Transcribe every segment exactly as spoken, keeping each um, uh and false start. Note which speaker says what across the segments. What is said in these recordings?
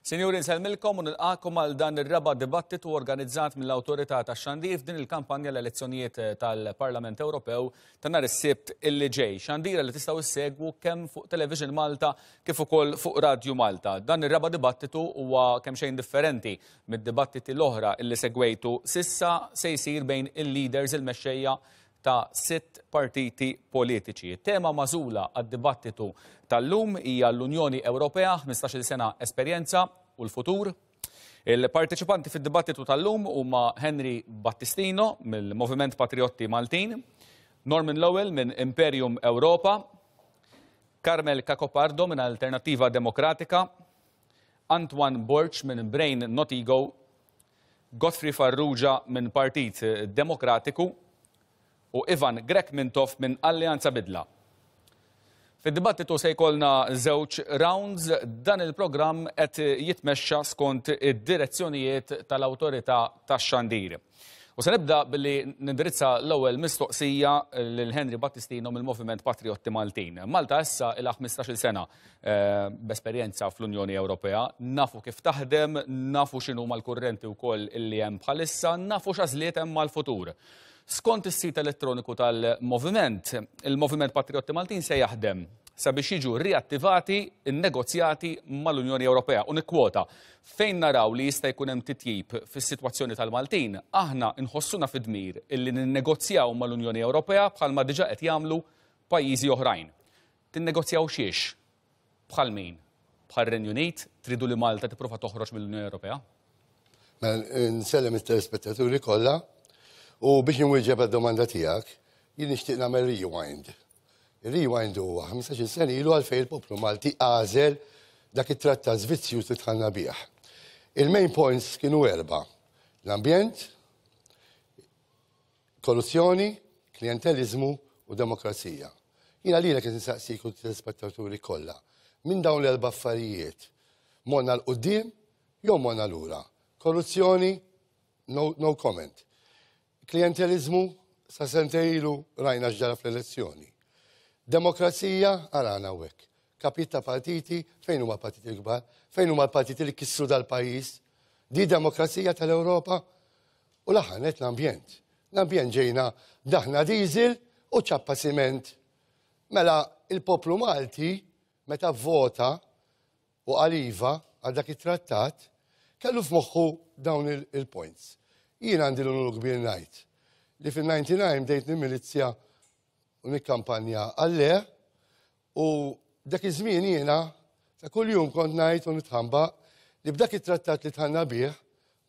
Speaker 1: Sinjuri, nsellmilkom u nilqakom għal dan ir-raba' dibattitu organizzat mill-Awtorità tax-Xandir f'din il-kampanja l-elezzjonijiet tal-Parlament Ewropew ta' nhar is-Sibt illi ġej. Xandira li tistgħu issegwu kemm fuq Television Malta kif ukoll fuq Radio Malta. Dan ir-raba' dibattitu huwa kemm xejn differenti mid-dibattiti l-oħra illi segwejtu sissa, se jsir bejn il-leaders, il-mexxejja ta' sitt partiti politiċi. Tema magħżula għad-dibattitu tal-lum hija l-Unjoni Ewropea, ħmistax-il sena esperjenza u l-futur. Il-parteċipanti fid-dibattitu tal-lum huma Henry Battistino mill-Moviment Patriotti Maltin, Norman Lowell minn Imperium Europa, Carmel Cacopardo minn Alternativa Demokratika, Antoine Borg minn Brain Not Ego, Godfrey Farrugia minn Partit Demokratiku u Ivan Grech Mintoff minn Alleanza Bidla. Fid-dibattitu se jkollna żewġ rounds. Dan il-programm qed jitmexxa skont id-direzzjonijiet tal-Awtorità tax-Xandir. U se nibda billi nindirizza l-ewwel mistoqsija lil Henry Battistino mill-Moviment Patriotti Maltin. Malta issa ilha ħmistax-il sena, eh, b'esperjenza fl-Unjoni Ewropea, nafu kif taħdem, nafu x'inhu mal-kurrenti wkoll illi hemm bħalissa, nafu x'għażliet hemm mal-futur. Skont is-sit elettroniku tal-Moviment, il-Moviment Patriotti Maltin se jaħdem sabiex jiġu riattivati n-negozjati mal-Unjoni Ewropea. U nikkwota: "Fejn naraw li jista' jkun hemm titjib fis-sitwazzjoni tal-Maltin, aħna nħossuna fid-dmir illi ninnegozjaw mal-Unjoni Ewropea bħalma diġà qed jagħmlu pajjiżi oħrajn." Tinnegozjaw xiex? Bħal min? Bħal Renju Unit? Tridu li Malta tipprova toħroġ mill-Unjoni Ewropea?
Speaker 2: Mela, nsellem it-telespettaturi kollha u biex nwieġeb għad-domanda tiegħek, jien nixtieq nagħmel rewind. Il-rewind huwa ħmistax-il sena ilu, għalfejn il-poplu Malti għażel dak it-trattat vizzjuż li dħalna bih. Il-main points kienu erba': l-ambjent, korruzzjoni, klientelizmu u demokrazija. Jiena lilek qed insaqsik u telespettaturi kollha. Minn dawn l-erba' affarijiet, morna 'l quddiem jew morna lura? Korruzzjoni, no, no comment. Klientelizmu, sa sentejn ilu rajna x'ġara fl-elezzjoni. Demokrazija, arana hekk. Kapit ta' partiti, fejn huma partiti l-kbar, fejn huma l-partiti li kissru dal-pajjiż? Di demokrazija tal-Ewropa? U l-aħħar l-ambjent. L-ambjent, ġejna daħna diesel u ċappa siment. Mela il-poplu Malti meta vota u qal iva għal dak it-trattat, kellu f'moħħu dawn il-points. Jien għandi l-unur kbir ngħid li fil-disgħa u disgħin bdejt nimilizja u nikkampanja għal-le, u dak iż-żmien jiena ta' kuljum kont ngħid u nitħamba li b'dak it-trattat li dħalna bih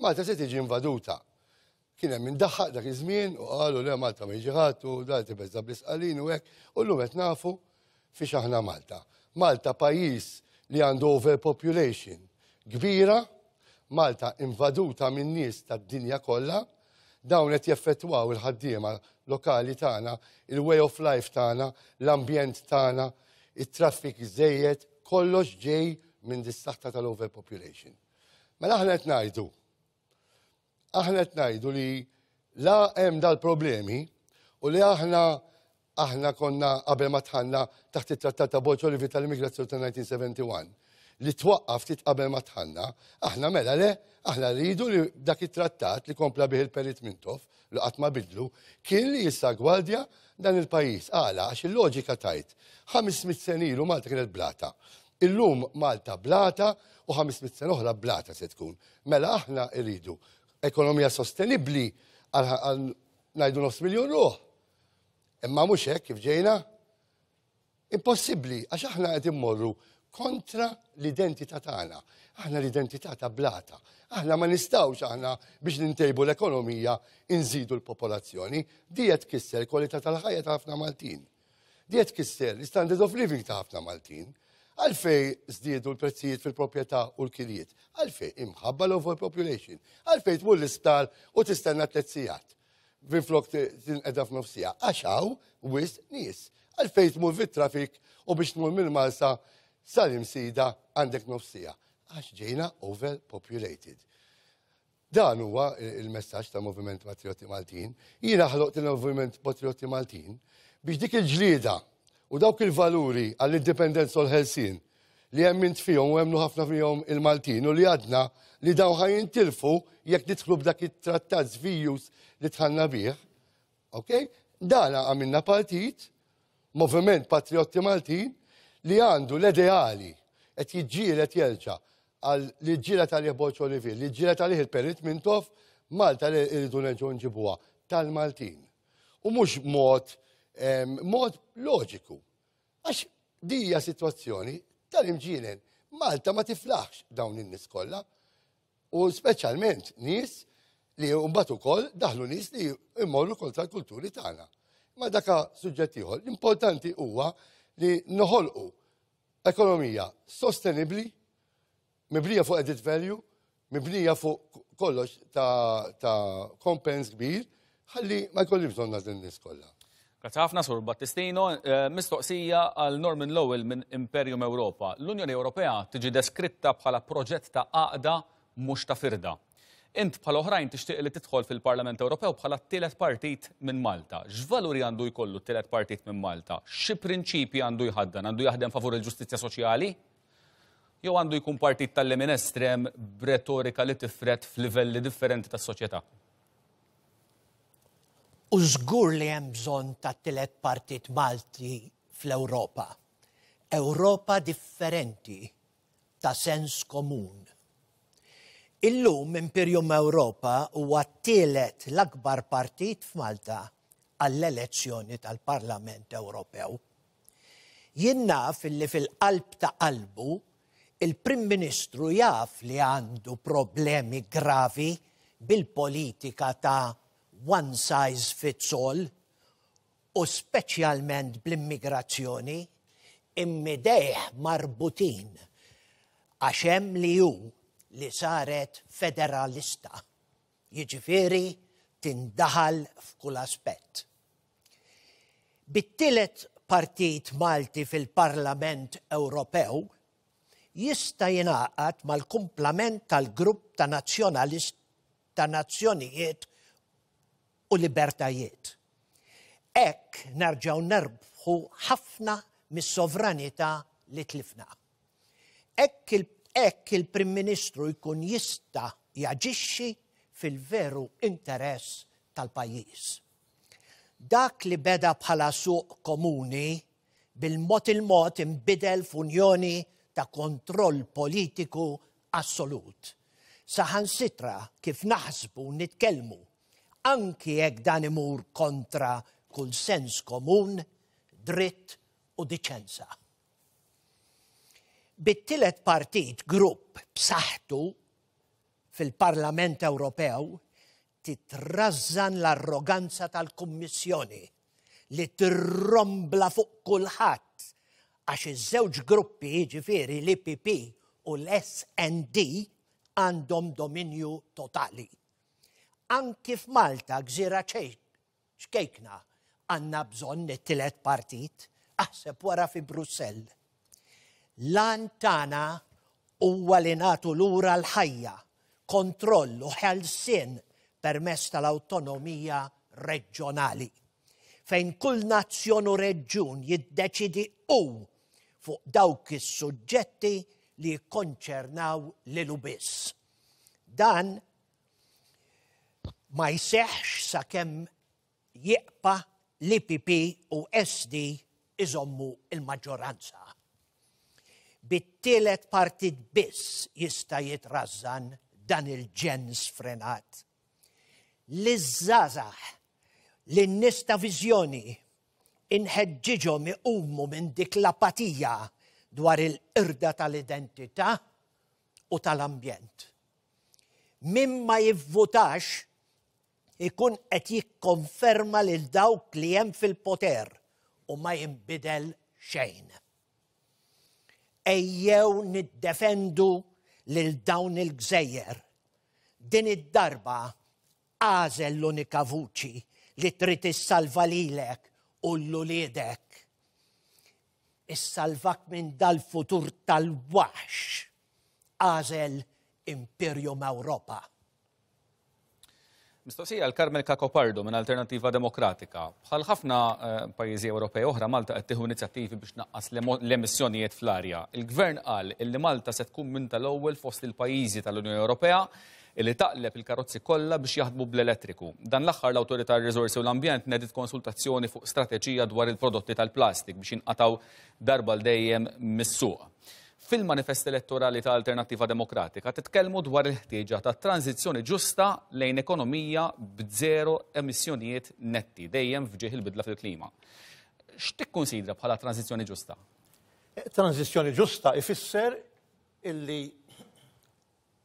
Speaker 2: Malta se tiġi invaduta. Kien hemm min daħaq dak iż-żmien u qalu: "Le, Malta ma jiġi ħadd u da tibeża bl-isqalin" u hekk, u llum qed nafu fiex aħna Malta. Malta pajjiż li għandu overpopulation kbira, Malta invaduta minn nies tad-dinja kollha, dawn qed jeffettwaw il-ħaddiema lokali tagħna, il-way of life tagħna, l-ambjent tagħna, it-traffic żejjed, kollox ġej minn dis-saħta tal-overpopulation. Mela aħna qed ngħidu aħna qed ngħidu li la hemm dal-problemi u li aħna aħna konna qabel ma dħalna taħt it-trattat ta' Borg Olivier tal-immigrazzjoni ta' elf disa' mija u wieħed u sebgħin li twaqqaf ftit qabel ma dħalna, aħna mela le, aħna rridu li dak it-trattat li kompla bih il-Perit Mintoff, li qatt ma bidlu, kien li jissagwardja dan il-pajjiż. Għala? Għax il-loġika tgħid, ħames mitt sena ilu Malta kienet blata. Illum Malta blata u ħames mitt sena oħra blata se tkun. Mela aħna rridu ekonomija sostenibbli għal ngħidu nofs miljon ruħ. Imma mhux hekk kif ġejna. Impossibbli, għax aħna qed immorru kontra l-identità tagħna. Aħna l-identità ta' blata. Aħna ma nistgħux aħna biex nintejbu l-ekonomija inżidu l-popolazzjoni. Di qed tkisser kwalità tal-ħajja ta' ħafna Maltin. Di qed tkisser l-standard of living ta' ħafna Maltin. Għalfej żdiedu l-prezzijiet fil-proprjetà u l-kirjiet? Għalfej? Imħabba l-overpopulation. Għalfej tmur l-isptar u tistenna tliet sigħat minflok tinqeda f'nofs siegħa? Għax hawn wisq nies. Għalfej tmur fit-traffic u biex tmur mill-Marsa sal-Imsida għandek nofs siegħa? Għax ġejna overpopulated. Dan huwa il-messaġġ ta' Moviment Patrioti Maltin. Jiena ħloqt il-Moviment Patrioti Maltin biex dik il-ġlieda U dawk il-valuri għall-indipendenza u l-ħelsien li emmint fihom u emmnu ħafna fihom il-Maltin u li għadna li dawn ħa jintilfu jekk nidħlu b'dak it-trattat żvijus li dħalna bih, ok? Dana għamilna partit, Moviment Patriotti Maltin, li għandu l-ideali qed jiġġieled jerġa' għal li ġġieled għalih Borg Olivier, li ġġieled għalih il-Perit Mintoff, Malta li rridu nerġgħu nġibuha tal-Maltin. U mhux mod mod loġiku. Għax dija sitwazzjoni tal-imġienen. Malta ma tiflaħx dawn in-nies kollha. U speċjalment nies li mbagħad ukoll daħlu nies li jmorru kontra l-kulturi tagħna. Ma daka suġġett ieħor. L-importanti huwa li noħolqu ekonomija sostenibbli, mibnija fuq added value, mibnija fuq kollox ta', ta kompens kbir, ħalli ma jkolli bżonn din nies kollha.
Speaker 1: Grazzi ħafna, Sur Battistino. Eh, mistoqsija għal Norman Lowell minn Imperium Europa. L-Unjoni Ewropea tiġi deskritta bħala proġett ta' għaqda mhux ta' firda. Int bħal oħrajn tixtieq li tidħol fil-Parlament Ewropew bħala t-tielet partit minn Malta. X'valuri għandu jkollu t-tielet partit minn Malta? Xi prinċipji għandu jħaddan? Għandu jaħdem favur il-ġustizzja soċjali? Jew għandu jkun partit tal-lemin estrem b'retorika li tifred f'livelli differenti tas-soċjetà?
Speaker 3: U żgur li hemm bżonn ta' tielet partit Malti fl-Ewropa. Ewropa differenti ta' sens komun. Illum Imperium Europa huwa t-tielet l-akbar partit f'Malta għall-elezzjoni tal-Parlament Ewropew. Jien naf illi fil-qalb ta' qalbu il-Prim Ministru jaf li għandu problemi gravi bil-politika ta' one size fits all u speċjalment bl-immigrazzjoni, immidejh marbutin għax hemm li hu li saret federalista. Jiġifieri tindaħal f'kull aspett. Bit-tielet partit Malti fil-Parlament Ewropew jista' jingħaqad mal-kumplament tal-grupp ta' nazzjonalist ta' nazzjonijiet u libertajiet. Hekk nerġgħu nerbħu ħafna mis-sovranità li tlifna. Hekk il-Prim Ministru jkun jista' jaġixxi fil-veru interess tal-pajjiż. Dak li beda bħala suq komuni bil-mod il-mod inbidel f'unjoni ta' kontroll politiku assolut. Saħansitra kif naħsbu nitkellmu, anki jekk dan imur kontra kull sens komun, dritt u diċenza. Bit-tielet partit grupp b'saħħtu fil-Parlament Ewropew titrażżan l-arroganza tal-Kummissjoni li tirrombla fuq kulħadd għax iż-żewġ gruppi, jiġifieri l-I P P u l-S N D, għandhom dominju totali. Anki f'Malta, gżira ċkejkna, għandna bżonn it-tielet partit, aħseb wara fi Brussell. Lan tagħna huwa li nagħtu lura l-ħajja, kontroll u ħelsien permezz tal-awtonomija reġjonali, fejn kull nazzjon u reġjun jiddeċidi hu fuq dawk is-suġġetti li jikkonċernaw lilu biss. Dan ma jseħħx sakemm jieqpa l-I P P u S D iżommu il-maġġoranza. Bit-tielet partit biss jista' jitrażżan dan il-ġen sfrenat. Liż-żgħażagħ, lin-nies ta' viżjoni, inħeġġiġhom iqumu minn dik l-apatija dwar il-qirda tal-identità u tal-ambjent. Min ma jivvutax ikun qed jikkonferma lil dawk li hemm fil-poter u ma jinbidel xejn. Ejjew niddefendu lil dawn il-gżejjer. Din id-darba għażel l-unika vuċi li trid issalva lilek u l-uliedek. Issalvak minn dal-futur tal-waħx. Għażel Imperium Europa.
Speaker 1: Mistoqsija għal Carmel Cacopardo minn Alternattiva Demokratika. Bħal ħafna eh, pajjiżi Ewropej oħra, Malta qed tieħu inizjattivi biex tnaqqas l-emissjonijiet fl-arja. Il-Gvern qal illi Malta se tkun minn tal-ewwel fost il-pajjiżi tal-Unjoni Ewropea illi taqleb il-karozzi kollha biex jaħdmu bl-elettriku. Dan l-aħħar l-Awtorità tar-Riżorsi u l-Ambjent nediet konsultazzjoni fuq strateġija dwar il-prodotti tal-plastik biex jinqataw darba l dejjem mis-suq. Fil-manifest elettorali ta' Alternattiva Demokratika titkellmu dwar il-ħtieġa ta' tranzizzjoni ġusta lejn ekonomija b'zero emissjonijiet netti, dejjem f'ġieħ il-bidla fil-klima. X'tikkunsidra bħala tranzizzjoni ġusta?
Speaker 4: Tranzizzjoni ġusta ifisser illi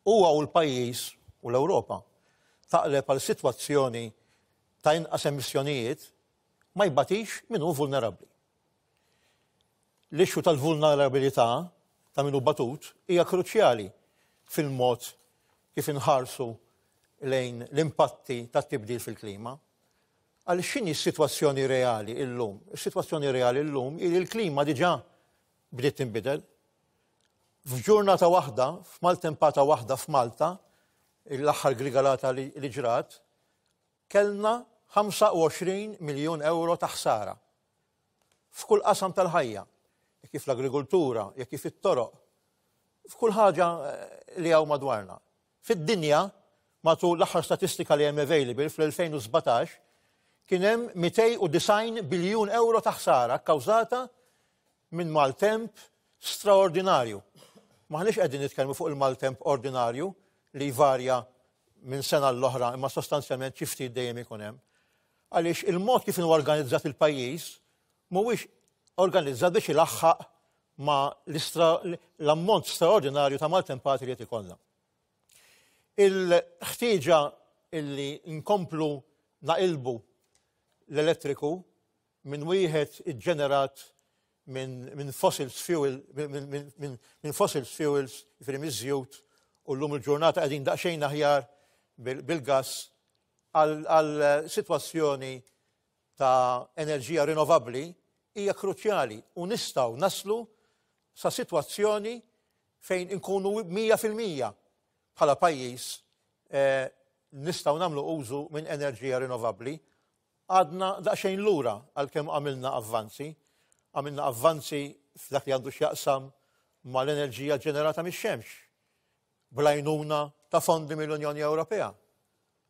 Speaker 4: huwa u l-pajjiż u l-Ewropa taqleb għal sitwazzjoni ta' inqas emissjonijiet ma jbatix min hu vulnerabbli. L-issue tal-vulnerabilità ta' min hu batut hija kruċjali fil-mod kif inħarsu lejn l-impatti tat-tibdil fil-klima. Għal x'inhi s-sitwazzjoni reali illum? Is-sitwazzjoni reali illum hi li l-klima diġà bdiet tinbidel. F'ġurnata waħda, f'maltempata waħda f'Malta, l-aħħar grigalata li ġrat, kellna ħamsa u għoxrin miljun euro ta' ħsara. F'kull qasam tal-ħajja, jekk kif l-agrikoltura, jekk kif it-toroq, f'kull ħaġa eh, li hawn madwarna. Fid-dinja, matul l-aħħar statistika li hemm available fl-elfejn u sbatax, kien hemm mitejn u disgħin biljun euro ta' ħsara kkawżata minn maltemp straordinarju. Maħniex qegħdin nitkellmu fuq il-maltemp ordinarju li jvarja minn sena l-oħra, imma sostanzjalment xi ftit dejjem ikun hemm. Għaliex il-mod kif inhu organizzat il-pajjiż mhuwiex organizzat biex ilaħħaq ma l-ammont straordinarju ta' maltempati li qed ikollna. Il-ħtieġa illi nkomplu naqilbu l-elettriku minn wieħed iġġenerat minn min fossil fuel, minn min, min, min fossil fuels, jiġifieri miż-żjut, u llum il-ġurnata qegħdin daqsxejn aħjar bil-gas għal sitwazzjoni ta' enerġija rinnovabbli hija kruċjali u nistgħu naslu sa' sitwazzjoni fejn inkunu mija fil-mija bħala pajjiż eh, nistgħu nagħmlu użu minn enerġija rinnovabbli. Għadna daqsxejn lura għalkemm għamilna avvanzi. Għamilna avvanzi f'dak li għandu x'jaqsam mal-enerġija ġenerata mix-xemx bl-għajnuna ta' fondi mill-Unjoni Ewropea.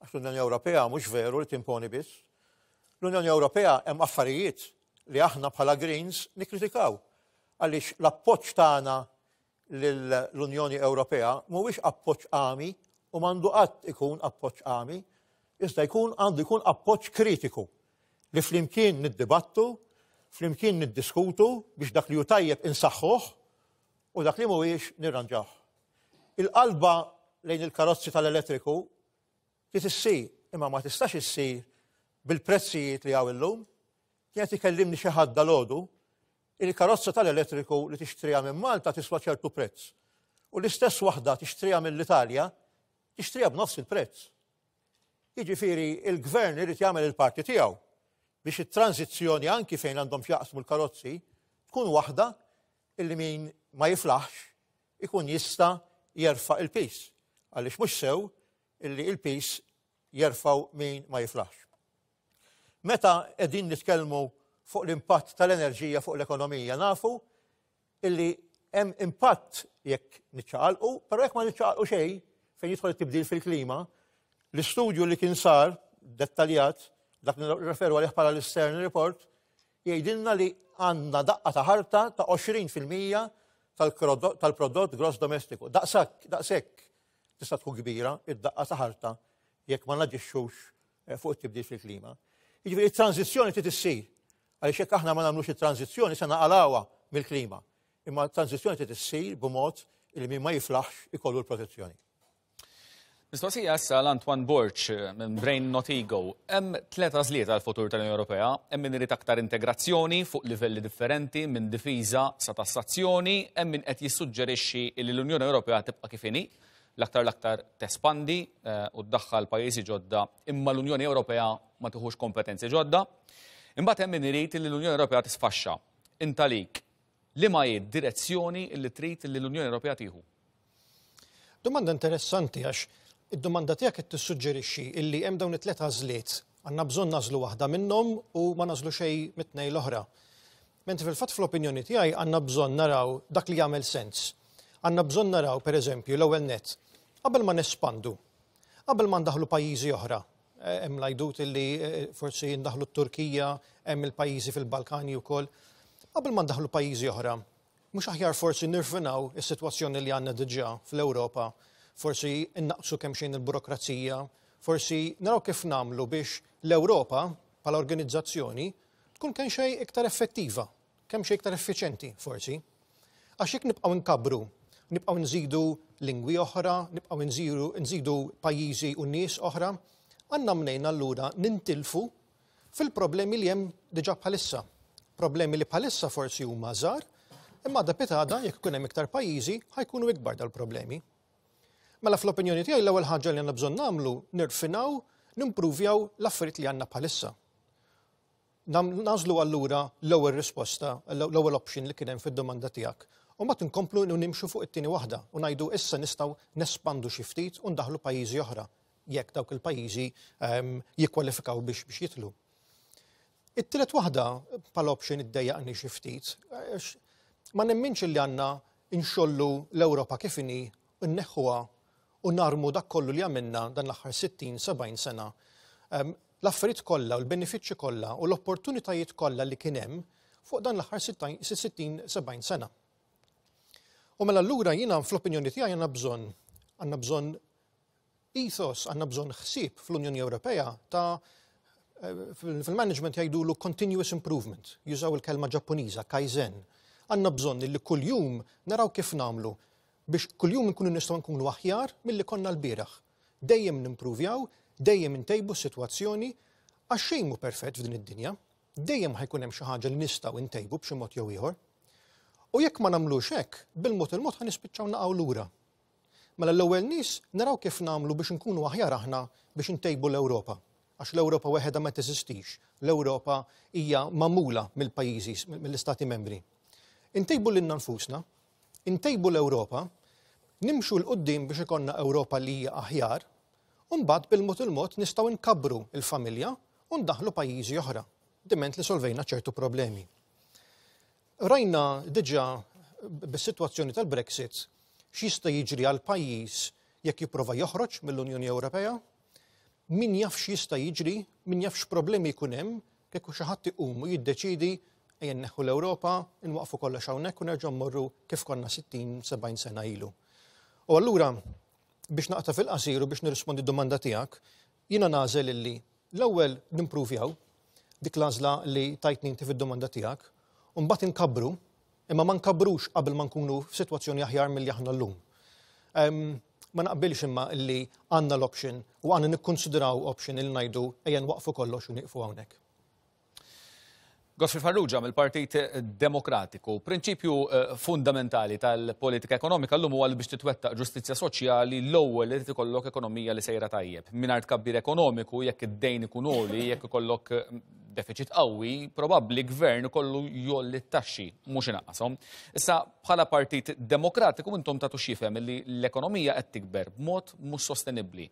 Speaker 4: Għax l-Unjoni Ewropea mhux veru li timponi biss. L-Unjoni Ewropea hemm affarijiet li aħna bħala Greens nikkritikaw. Għaliex l-appoġġ tagħna l-Unjoni Ewropea mhuwiex appoġġ għami u m'għandu qatt ikun appoġġ għami, iżda jkun għandu jkun appoġġ kritiku li flimkien niddibattu, flimkien niddiskutu biex dak li hu tajjeb insaħħuh u dak li mhuwiex nirranġawh. Il-qalba lejn il-karozzi tal-elettriku trid issir, imma ma tistax issir bil-prezzijiet li hawn illum. Kienet ikellimni xi ħadd dalgħodu, il-karozza tal-elettriku li tixtriha minn Malta tiswa ċertu prezz. U l-istess waħda tixtriha mill-Italja, tixtriha b'nofs il-prezz. Jiġifieri il-gvern irid jagħmel il-parti tiegħu biex it-tranzizzjoni, anki fejn għandhom x'jaqsmu l-karozzi, tkun waħda illi min ma jiflaħx ikun jista' jerfa' il-piż. Għaliex mhux sew illi il-piż jerfgħu min ma jiflaħx. Meta qegħdin nitkellmu fuq l-impatt tal-enerġija fuq l-ekonomija, nafu illi hemm impatt jekk niċċaqalqu, però jekk ma niċċaqalqu xejn fejn jidħol it-tibdil fil-klima, l-istudju li kien sar dettaljat, dak referu għalih bħala l-Stern Report, jgħidilna li għandna daqqa ta' ħarta ta' għoxrin fil-mija tal-prodott gross domestiku. Daqsak, daqshekk tista' tkun kbira id-daqqa ta' ħarta jekk ma naġixxux eh, fuq it-tibdil fil-klima. Jiġifieri it-tranzizzjoni trid issir. Għaliex jekk aħna ma nagħmlux it-tranzizzjoni se naqalgħuha mill-klima. Imma t-tranzizzjoni trid issir b'mod li min ma jiflaħx ikollu l-protezzjoni.
Speaker 1: Mistoqsija issa l-Antoine Borg minn Brain Not Ego. Hemm tliet għażliet għal futur tal-Unjoni Ewropea, hemm min irid aktar integrazzjoni fuq livelli differenti, minn difiża sa tassazzjoni, hemm min qed jissuġġerixxi li l-Unjoni Ewropea tibqa' kif inhi, l-aktar l-aktar tespandi eh, u ddaħħal pajjiżi ġodda, imma l-Unjoni Ewropea ma tieħux kompetenzi ġodda. Imbagħad hemm min irid li l-Unjoni Ewropea tisfaxxa. Int għalik, liema hi d-direzzjoni li trid li l-Unjoni Ewropea tieħu?
Speaker 5: Domanda interessanti, għax Id-domanda tiegħek qed tissuġġerixxi illi hemm dawn it-tliet għażliet, għandna bżonn nagħżlu waħda minnhom u ma nagħżlu xejn mit-tnejn l-oħra. Mentri fil-fatt fl-opinjoni tiegħi għandna bżonn naraw dak li jagħmel sens. Għandna bżonn naraw, pereżempju, l-ewwel nett, qabel ma nespandu, qabel ma ndaħlu pajjiżi oħra, hemm l-għajdut illi forsi ndaħlu t-Turkija, hemm il-pajjiżi fil-Balkani wkoll, qabel ma ndaħlu pajjiżi oħra, mhux aħjar forsi nirfinaw is-sitwazzjoni li għandna diġà fl-Ewropa, forsi innaqsu kemm xejn il-burokrazija, forsi naraw kif nagħmlu biex l-Ewropa bħala organizzazzjoni tkun kemm xejn iktar effettiva, kemm xejn iktar effiċenti forsi. Għax jekk nibqgħu nkabbru, nibqgħu nżidu lingwi oħra, nibqgħu nżidu, nżidu pajjiżi u nies oħra, għandna mnejn allura nintilfu fil-problemi li hemm diġà bħalissa. Problemi li bħalissa forsi huma żgħar, imma għada pitgħada jekk ikun hemm iktar pajjiżi ħajkunu ikbar dal-problemi. Mela fl-opinjoni tiegħi l-ewwel ħaġa li għandna bżonn nagħmlu nirfinaw, nimpruvjaw l-affarijiet li għandna bħalissa. Nażlu allura l-ewwel risposta, l-ewwel option li kien hemm fid-domanda tiegħek. U mbagħad inkomplu nimxu fuq it-tieni waħda u ngħidu issa nistgħu nespandu xi ftit u ndaħlu pajjiżi oħra jekk dawk il-pajjiżi jikkwalifikaw biex biex jitlu. It-tielet waħda bħala option iddejjaqni xi ftit, ma nemminx li għandna nxollu l-Ewropa kif inhi, nneħħuha u narmu dak kollu li għamilna dan l-aħħar sittin sebgħin sena. L-affarijiet kollha u l-benefiċċji kollha u l-opportunitajiet kollha li kien hemm fuq dan l-aħħar sittin sebgħin sena. U mela allura jiena fl-opinjoni tiegħi għandna bżonn, għandna bżonn ethos, għandna bżonn ħsieb fl-Unjoni Ewropea ta' fil-management jgħidulu continuous improvement, jużaw il-kelma Ġappuniża, kaizen. Għandna bżonn li kuljum naraw kif nagħmlu biex kuljum nkunu nistgħu nkunu aħjar milli konna l-bieraħ. Dejjem nimpruvjaw, dejjem intejbu s-sitwazzjoni, għax xejn mhu perfett f'din id-dinja, dejjem ħajkun hemm xi ħaġa li nistgħu ntejbu b'xi mod jew ieħor. U jekk ma nagħmlux hekk, bil-mod il-mod ħa nispiċċaw naqgħu lura. Mela l-ewwel nies naraw kif nagħmlu biex nkunu aħjar aħna biex intejbu l-Ewropa. Għax l-Ewropa weħedha ma teżistix. L-Ewropa hija magħmula mill-pajjiżi, mill-istati membri. Intejbu lilna nfusna, intejbu l-Ewropa, nimxu 'l quddiem biex ikollna Ewropa li hija aħjar, u mbagħad bil-mod il-mod nistgħu nkabbru l-familja u ndaħlu pajjiżi oħra, diment li solvejna ċertu problemi. Rajna diġà bis-sitwazzjoni tal-Brexit x'jista' jiġri għal pajjiż jekk jipprova joħroġ mill-Unjoni Ewropea, min jaf x'jista' jiġri, min jaf x'problemi jkun hemm kieku xi ħadd iqum u jiddeċidi ejja nneħħu l-Ewropa, inwaqfu kollox hawnhekk u nerġgħu mmorru kif konna sittin sebgħin sena ilu. U allura biex naqta' fil-qasir u biex nirrispondi d-domanda tiegħek, jiena nagħżel illi l-ewwel nimpruvjaw dik l-għażla li tajtni inti fid-domanda tiegħek, u mbagħad inkabbru, imma ma nkabrux qabel ma nkunu f'sitwazzjoni aħjar milli aħna llum. Ma naqbilx imma illi għandna l-option u għandna nikkonsidraw option il ngħidu ejja nwaqfu kollox u nieqfu hawnhekk.
Speaker 1: Godfrey Farrugia mill-Partit Demokratiku. Prinċipju fundamentali tal-politika ekonomika llum huwa li biex titwettaq ġustizzja soċjali l-ewwel irid ikollok ekonomija li sejra tajjeb. Mingħajr tkabbir ekonomiku, jekk id-dejn ikun għoli, jekk ikollok deficit qawwi, probabbli gvern ikollu jolli t-taxxi, mhux inaqqashom. Issa bħala Partit Demokratiku intom tagħtu x'jifhem li l-ekonomija qed tikber b'mod mhux sostenibbli.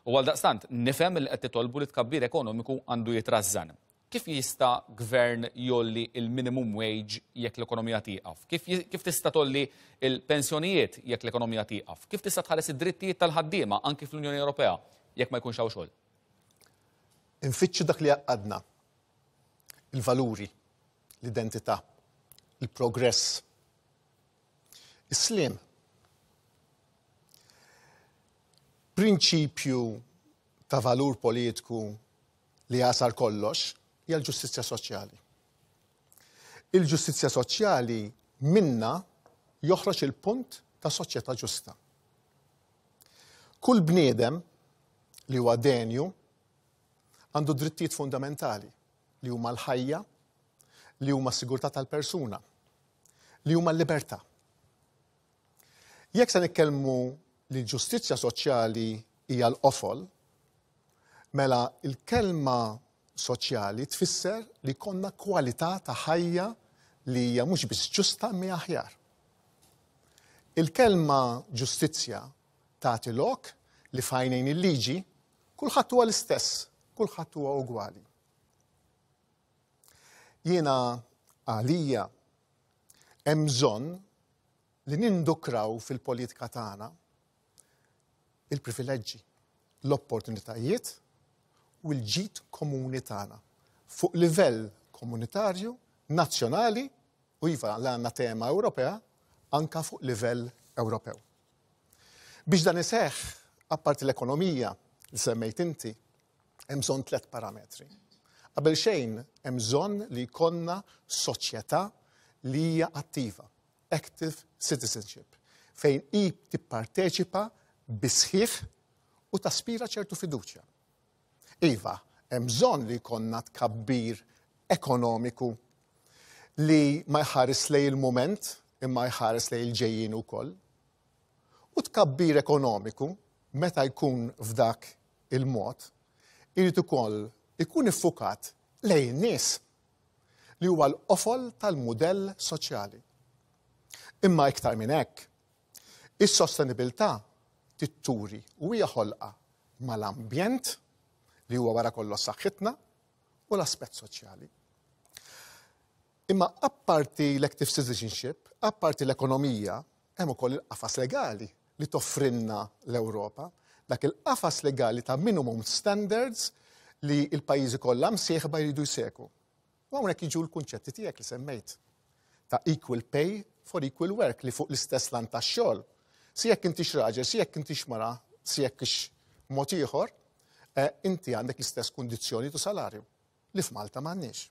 Speaker 1: U għaldaqstant nifhem li qed titolbu li tkabbir ekonomiku għandu jitrażżan. Kif jista' gvern jolli il-minimum wage jekk l-ekonomija tieqaf? Kif ji-, kif tista' tolli il-pensjonijiet jekk l-ekonomija tieqaf? Kif tista' tħares id-drittijiet tal-ħaddiema anki fl-Unjoni Ewropea jekk ma jkunx hawn xogħol?
Speaker 6: Infittxu dak li għaqqadna. Il-valuri, l-identità, il-progress, is-slim. Prinċipju ta' valur politiku li jasar kollox hija l-ġustizzja soċjali. Il-ġustizzja soċjali minna joħroġ il-punt ta' soċjetà ġusta. Kull bniedem li huwa denju għandu drittijiet fundamentali li huma l-ħajja, li huma s-sigurtà tal-persuna, li huma l-libertà. Jekk se nitkellmu li l-ġustizzja soċjali hija l-qofol, mela l-kelma soċjali tfisser li konna kwalità ta' ħajja li hija mhux biss ġusta imma aħjar. Il-kelma ġustizzja tagħti lok Li f'għajnejn il-liġi kulħadd huwa l-istess, kulħadd huwa ugwali. Jiena għalija hemm bżonn li nindukraw fil-politika tagħna il-privileġġi, l-opportunitajiet u l-ġid komuni tagħna fuq livell komunitarju, nazzjonali u iva l għandna tema Ewropea anka fuq livell Ewropew. Biex dan iseħħ, apparti l-ekonomija li semmejt inti, hemm bżonn tliet parametri. Qabel xejn hemm bżonn li jkollna soċjetà li hija attiva, active citizenship, fejn i tipparteċipa bis-sħiħ u taspira ċertu fiduċja. Iva, hemm bżonn li jkollna tkabbir ekonomiku li ma jħares lejn il-moment imma jħares lejn il-ġejjin ukoll. U tkabbir ekonomiku meta jkun f'dak il-mod, irid ukoll ikun iffukat lejn nies li huwa l-qofol tal-mudell soċjali. Imma iktar minn hekk, is-sostenibilità titturi u hija ħolqa mal-ambjent li huwa wara kollox saħħitna u l-aspett soċjali. Imma apparti l-active citizenship, apparti l-ekonomija, hemm ukoll il-qafas legali li toffrinna l-Ewropa, dak il-qafas legali ta' minimum standards li il-pajjiżi kollha msieħba jridu jsegwu. U hawnhekk jiġu l-kunċetti tiegħek li semmejt ta' equal pay for equal work li fuq l-istess lan tax-xogħol. Si jekk intix raġel, si jekk intix mara, si jekk ix mod ieħor, eh, inti għandek l-istess kundizzjoni tu salarju li f'Malta m'għandniex.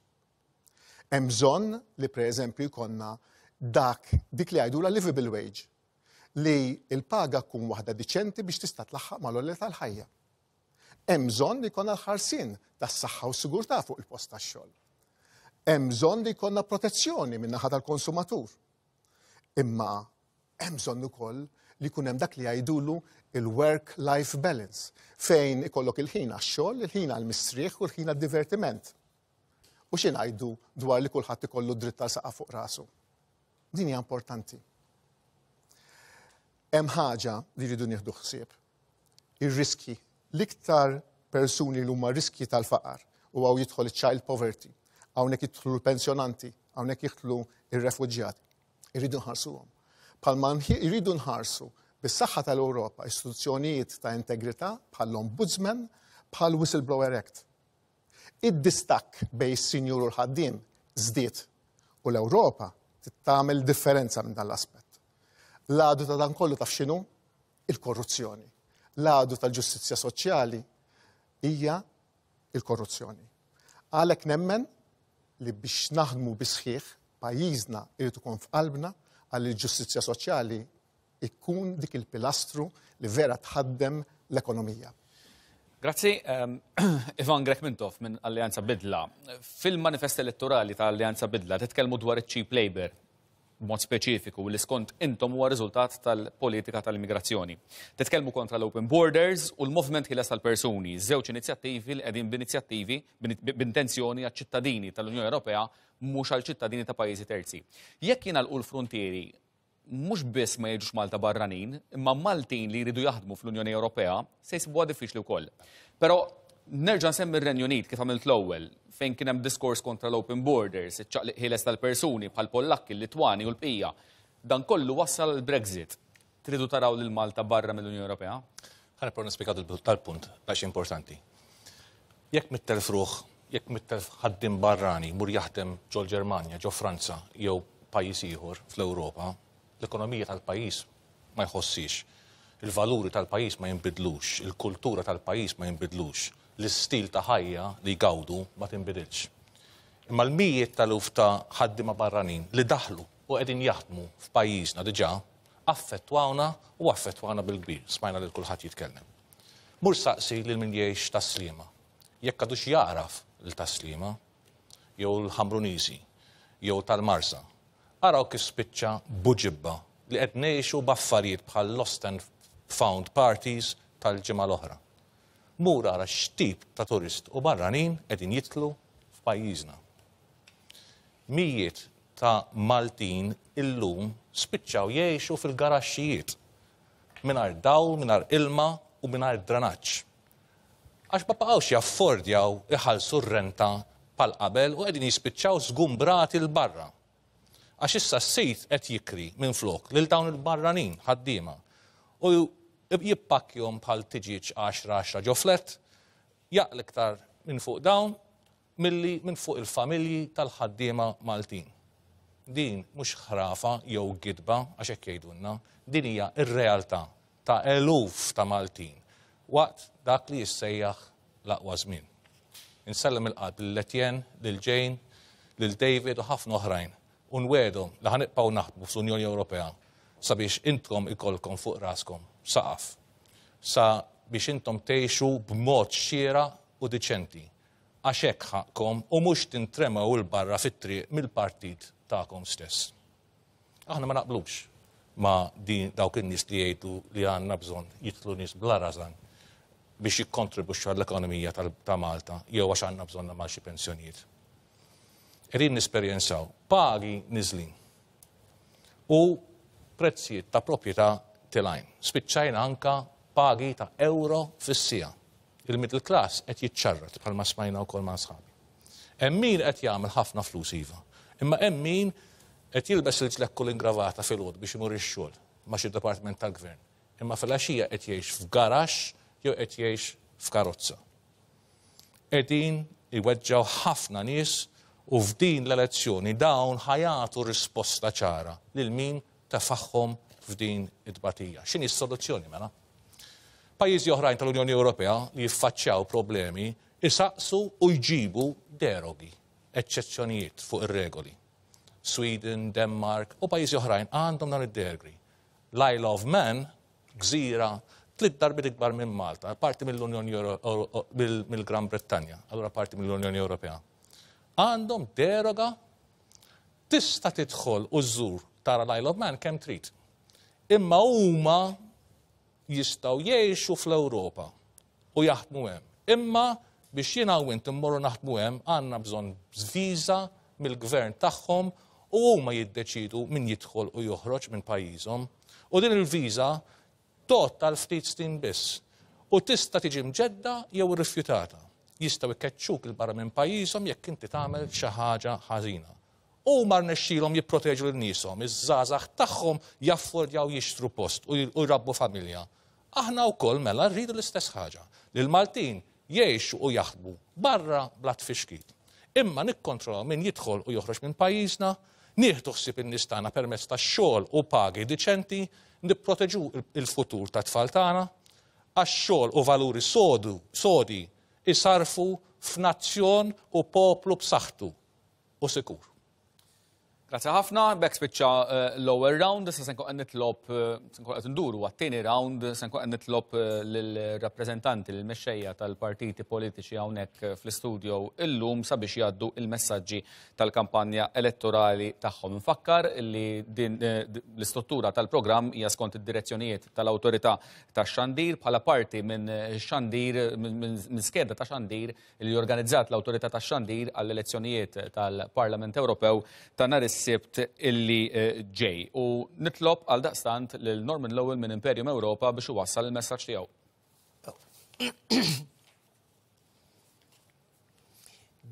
Speaker 6: Hemm bżonn li pereżempju jkollna dak dik li jgħidula livable wage li il-paga tkun waħda diċenti biex tista' tlaħħaq mal-għoli tal-ħajja. Hemm bżonn li jkollna l-ħarsien tas-saħħa u s-sigurtà fuq il-post tax-xogħol. Hemm bżonn li jkollna protezzjoni min-naħa tal-konsumatur. Imma hemm bżonn ukoll li jkun hemm dak li jgħidulu il-work-life balance, fejn ikollok il-ħin għax-xogħol, il-ħin għall-mistrieħ u l-ħin għad-divertiment. U xi ngħidu dwar li kulħadd ikollu dritt tal saqaf fuq rasu. Din hija importanti. Hemm ħaġa li rridu nieħdu ħsieb. Ir-riski, l-iktar persuni li huma riski tal-faqar u hawn jidħol child poverty, hawnhekk jidħlu l-pensjonanti, hawnhekk jidħlu ir-refuġjati. Irridu nħarsuhom. Palma irridu nħarsu bis-saħħa tal-Ewropa istituzzjonijiet ta' integrità bħall-Ombudsman, bħal Whistleblower Act. Id-distakk bejn is-sinjur u l-ħaddiem żdied u l-Ewropa tagħmel differenza minn dan l-aspett. L-għadu ta' dan kollu taf x'inhu? Il-korruzzjoni. L-għadu tal-ġustizzja soċjali hija il-korruzzjoni. Għalhekk nemmen li biex naħdmu bis-sħiħ pajjiżna irid ikun f'qalbna għal il-ġustizzja soċjali ikun dik il-pilastru li vera tħaddem l-ekonomija.
Speaker 1: Grazzi, um, Ivan Grech Mintoff minn Alleanza Bidla. Fil-manifest elettorali ta' Alleanza Bidla titkellmu dwar il-cheap labor b'mod speċifiku li skont intom huwa riżultat tal-politika tal-immigrazzjoni. Titkellmu kontra l-open borders u l-movement ħieles tal-persuni, żewġ inizjattivi li qegħdin b'inizjattivi b'intenzjoni għaċ-ċittadini tal-Unjoni Ewropea mhux għal ċittadini ta' pajjiżi terzi. Jekk jingħalqu l-frontieri mhux biss ma jiġux Malta barranin, imma Maltin li jridu jaħdmu fl-Unjoni Ewropea se jsibuha diffiċli wkoll. Però nerġa' nsemmi r-Renju Unit kif għamilt l-ewwel, fejn kien hemm diskors kontra l-open borders, iċ-ċaqliq ħieles tal-persuni bħal Pollakki, l-Litwani u l-bqija. Dan kollu wassal l-Brexit. Tridu taraw lil Malta barra mill-Unjoni Ewropea?
Speaker 7: Ħa nipprova nispjega tal-punt għax importanti. Jekk mitt elf ruħ, jekk mitt elf ħaddiem barrani mur jaħdem ġol Ġermanja, ġo Franza jew pajjiż ieħor fl-Ewropa, l-ekonomija tal-pajjiż ma jħossix. Il-valuri tal-pajjiż ma jinbidlux, il-kultura tal-pajjiż ma jinbidlux, l-istil ta' ħajja li jgawdu ma tinbidilx. Imma l-mijiet tal-eluf ta' ħaddiema barranin li daħlu u qegħdin jaħdmu f'pajjiżna diġà affettwawna u affettwawna bil-kbir, smajna lil kulħadd jitkellem. Mur saqsi lil min jgħix Tas-Sliema. Jekk għadux jagħraf lil Tas-Sliema, jew l-Ħamruniżi, jew tal-Marsa. Araw kif spiċċa Buġibba li qed ngħixu b'affarijiet bħal lost and found parties tal-ġimgħa l-oħra. Mur ara x'tip ta' turist u barranin qegħdin jidħlu f'pajjiżna. Mijiet ta' Maltin illum spiċċaw jgħixu fil-garaxxijiet mingħajr dawl, mingħajr ilma. u mingħajr dranaġġ. Għax ma baqgħux jaffordjaw iħallsu r-renta bħal qabel u qegħdin jispiċċaw żgumbrati 'l barra. Għax issa s-sid qed jikri minn flok lil dawn il-barranin ħaddiema u jippakkjhom bħal tiġieġ għaxra għaxra ġo flet, jaqla' iktar minn fuq dawn milli minn fuq il-familji tal-ħaddiema Maltin. Din mhux ħrafa jew gidba għax hekk jgħidulna, din hija r-realtà ta' eluf ta' Maltin waqt dak li jissejjaħ l-aqwa żmien. Insellem il-qalb lil Etienne, lil Jane, lil David u ħafna oħrajn u nwegħedhom li ħa nibqgħu naħdmu fl-Unjoni Ewropea sabiex intkom ikollkom fuq raskom saqaf, sa biex intom tgħixu b'mod xieraq u diċenti, għax hekk ħaqkom u mhux tintremew 'il barra fit-triq mill-partit tagħkom stess. Aħna ma naqblux ma' din dawk in-nies li jgħidu li għandna bżonn jidħlu nies bla rażan biex jikkontribwixxu għall-ekonomija ta' Malta jew għax għandna bżonn ma' xi pensjonijiet. Qegħdin nesperjenzaw pagi niżlin u prezzijiet ta' proprjetà telgħin. Spiċċajna anka pagi ta' euro fis-siegħa. Il-middle class qed jiċċarrat bħalma smajna wkoll ma' sħabi. Hemm min qed jagħmel ħafna flus iva, imma hemm min qed jilbes il-ġlekku l-ingravata filgħodu biex imur ix-xogħol ma' xi dipartiment tal-gvern, imma fil-għaxija qed jgħix f'garaxx jew qed jgħix f'karozza. Qegħdin iweġġgħu ħafna nies u f'din l-elezzjoni dawn ħa jagħtu risposta ċara lil min tefagħhom f'din it-tbatija. X'inhi s-soluzzjoni mela? Pajjiżi oħrajn tal-Unjoni Ewropea li jiffaċċjaw problemi isaqsu u jġibu derogi, eċċezzjonijiet fuq ir-regoli. Sweden, Denmark u pajjiżi oħrajn għandhom dan id-derogi. L-Isle of Man, gżira tliet darbiet ikbar minn Malta, parti mill-Unjoni mill-Gran Brittanja, allura parti mill-Unjoni Ewropea. Għandhom deroga, tista' tidħol u żżur tara l-Isle of Man kemm trid. Imma huma jistgħu jgħixu fl-Ewropa u jaħdmu hemm. Imma biex jiena u int immorru naħdmu hemm għandna bżonn viża mill-gvern tagħhom u huma jiddeċidu min jidħol u joħroġ minn pajjiżhom. U din il-viża tgħodd għal ftit snin biss u tista' tiġi mġedda jew irrifjutata. Jistgħu jkeċċuk 'il barra minn pajjiżhom jekk inti tagħmel xi ħaġa ħażina. U ma rnexxilhom jipproteġu lil nieshom, iż-żgħażagħ tagħhom jaffordjaw jixtru post u jrabbu familja. Aħna wkoll mela rridu l-istess ħaġa, li l-Maltin jgħixu u jaħdmu barra bla tfixkil. Imma nikkontrollaw min jidħol u joħroġ minn pajjiżna, nieħdu ħsieb in-nies tagħna permezz ta' xogħol u pagi diċenti, nipproteġu il-futur tat-tfal tagħna, għax xogħol u valuri sodu, sodi isarfu f'nazzjon u poplu b'saħħtu u sikur.
Speaker 1: Grazie ħafna, b'hekk spiċċa l-ewwel round, issa se nkun qed nitlob, se nkun qed nduru għat-tieni round, se nkun qed nitlob lill-rappreżentanti, lill-mexxejja tal-partiti politiċi hawnhekk fl-istudio illum sabiex jgħaddu il-messaġġi tal-kampanja elettorali tagħhom. Nfakkar li din l-istruttura tal-programm hija skont id-direzzjonijiet tal-Awtorità tax-Xandir bħala parti minn xandir, minn skeda ta' xandir li organizzat l-Awtorità tax-Xandir għall-elezzjonijiet tal-Parlament Ewropew ta' nhar is-Sibt illi ġej. U nitlob għal daqstant lil Norman Lowell minn Imperium Ewropa biex iwassal il-messaġġ tiegħu.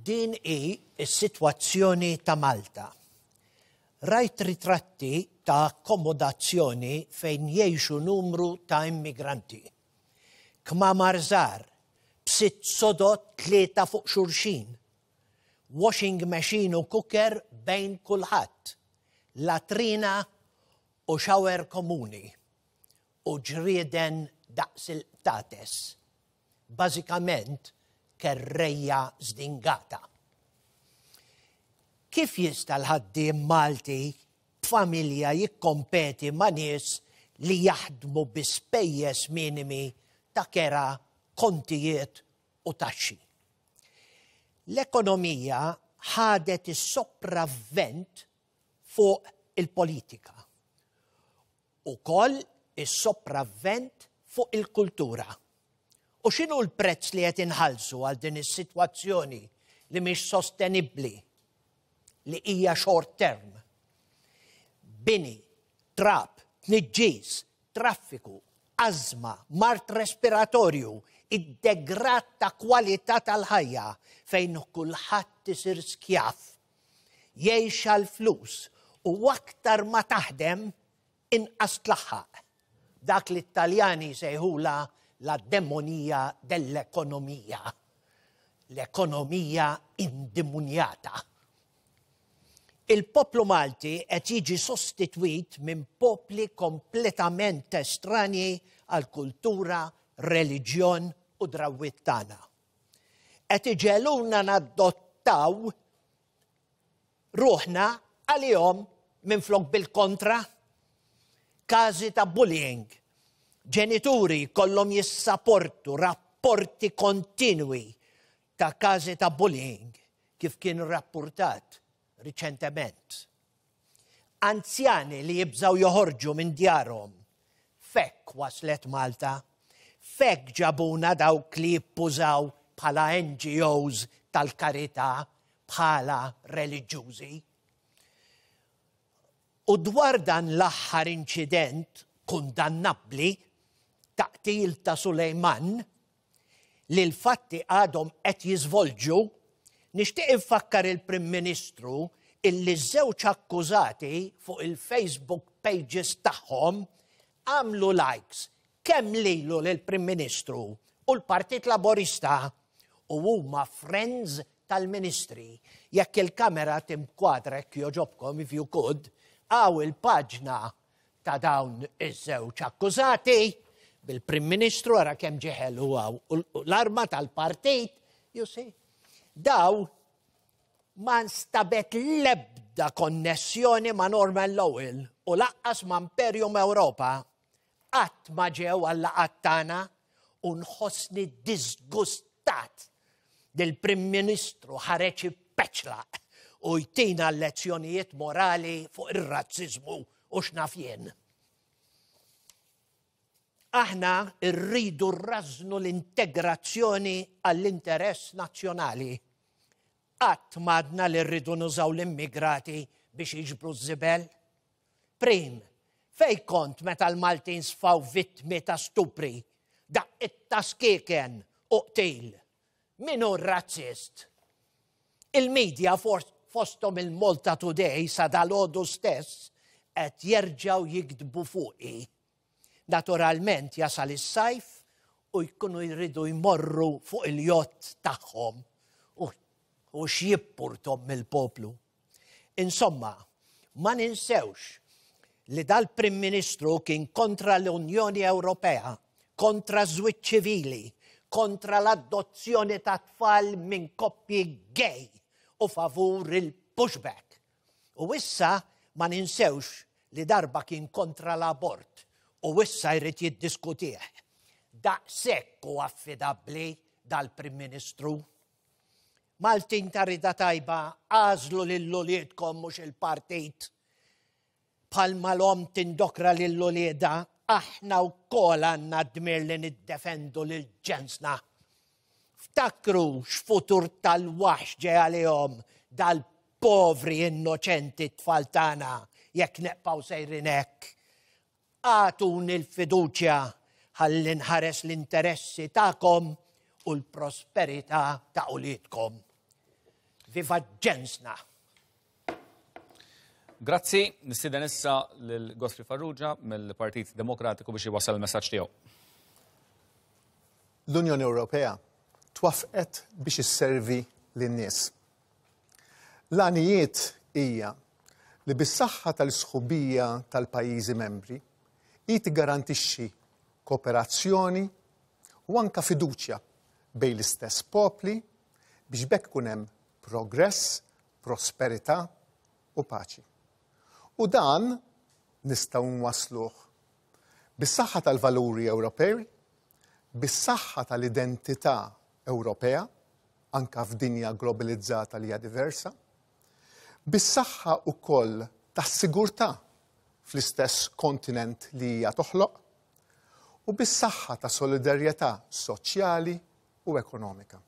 Speaker 3: Din hi s-sitwazzjoni ta' Malta. Rajt ritratti ta' akkomodazzjoni fejn jgħixu numru ta' immigranti. Kmamar żgħar, b'sitt sodod tlieta fuq xulxin. Washing machine u cooker bejn kulħadd, latrina u shower komuni u ġrieden daqs il-qtates. Bażikament kerrejja zdingata. Kif jista' l-ħaddiem Malti b'familja jikkompeti ma' nies li jaħdmu bi spejjeż minimi ta' kera, kontijiet u taxxi? L-ekonomija ħadet is-sopravvent fuq il-politika. Ukoll is-sopravvent fuq il-kultura. U x'inhu l-prezz li qed inħallsu għal din is-sitwazzjoni li mhix sostenibbli, li hija short term? Bini, trab, tniġġis, traffiku, Ażma, mard respiratorju, id-degrad ta' kwalità tal-ħajja fejn kulħadd isir skjav. Jgħix għall-flus u aktar ma taħdem inqas tlaħħaq. Dak li t-Taljani sejħula la demonia dell'economia. L-ekonomija indimunjata. Il-poplu Malti qed jiġi sostitwit minn popli kompletament estranji għal kultura, reliġjon u drawwiet tagħna. Qed iġegħluna nadottaw ruħna għalihom minflok bil-kontra. Każi ta' bullying. Ġenituri kollhom jissaportu rapporti kontinwi ta' każi ta' bullying kif kien rapportat riċentement. Anzjani li jibżaw joħorġu minn djarhom. F'hekk waslet Malta. F'hekk ġabuna dawk li jippużaw bħala N G Os tal-karità, bħala reliġjużi. U dwar dan l-aħħar inċident kundannabbli ta' qtil ta' Sulejman, li l-fatti għadhom qed jiżvolġu, nixtieq infakkar il-Prim Ministru illi żewġ akkużati fuq il-Facebook pages tagħhom għamlu likes kemm lilu lill-Prim Ministru u l-Partit Laborista u huma friends tal-ministri. Jekk il-kamera tinkwadra, jogħġobkom, if you could, hawn il-paġna ta' dawn iż-żewġ akkużati bil-Prim Ministru, ara kemm ġie ħelu hawn, u l-arma tal-partit, you see. Daw ma nstabet lebda konnessjoni ma' Norman Lowell u lanqas ma' Imperium Europa. Qatt ma ġew għal-laqgħat tagħna u nħossni disgustat dil-Prim Ministru ħareġ peċlaq u jtina lezzjonijiet morali fuq ir-razzizmu u x'naf jien. Aħna rridu rrażnu l-integrazzjoni għall-interess nazzjonali. Qatt m'għedna li rridu nużaw l-immigrati biex jiġbru ż-żibel. Prim, fej kont meta l-Maltin sfaw vittmi ta' stupri, daqqiet ta' skieken u qtil? Min hu razzist? Il-medja, fostom il-Malta Today sa dalgħodu stess, qed jerġgħu jiktbu fuqi. Naturalment jasal is-sajf u jkunu jridu jmorru fuq il-jott tagħhom u, u x'jimpurtahom mill-poplu. Insomma, ma ninsewx li dal-Prim Ministru kien kontra l-Unjoni Ewropea, kontra żwieġ ċivili, kontra l-adozzjoni ta' tfal minn koppji gay u favur il-pushback. U issa ma ninsewx li darba kien kontra l-abort u issa jrid jiddiskutih. Daqshekk hu affidabbli dal-Prim Ministru. Maltin ta' rida tajba, għażlu lil uliedkom, mhux il-partit. Bħalma l-omm tindokra lil uliedha, aħna wkoll għandna dmir li niddefendu lil ġensna. Ftakru x'futur tal-waħx ġej għalihom dal-povri innoċenti tfal tagħna jekk nibqgħu sejrin hekk. Agħtuni l-fiduċja ħalli nħares l-interessi tagħkom u l-prosperità ta' uliedkom. Viva ġensna!
Speaker 1: Grazzi, nistieden issa lil Godfrey Farrugia mill-Partit Demokratiku biex jwassal il-messaġġ tiegħu.
Speaker 6: L-Unjoni Ewropea twaffqet biex isservi lin-nies. L-għanijiet hija li bis-saħħa tal-sħubija tal-pajjiżi membri hi tigarantixxi kooperazzjoni u anka fiduċja bejn l-istess popli biex b'hekk ikun hemm progress, prosperità u paċi. U dan nistgħu nwasluh bis-saħħa tal-valuri Ewropej, bis-saħħa tal-identità Ewropea, anka f'dinja globalizzata li hija diversa, bis-saħħa wkoll tas-sigurtà fl-istess kontinent li hija toħloq, u bis-saħħa ta' solidarjetà soċjali u ekonomika.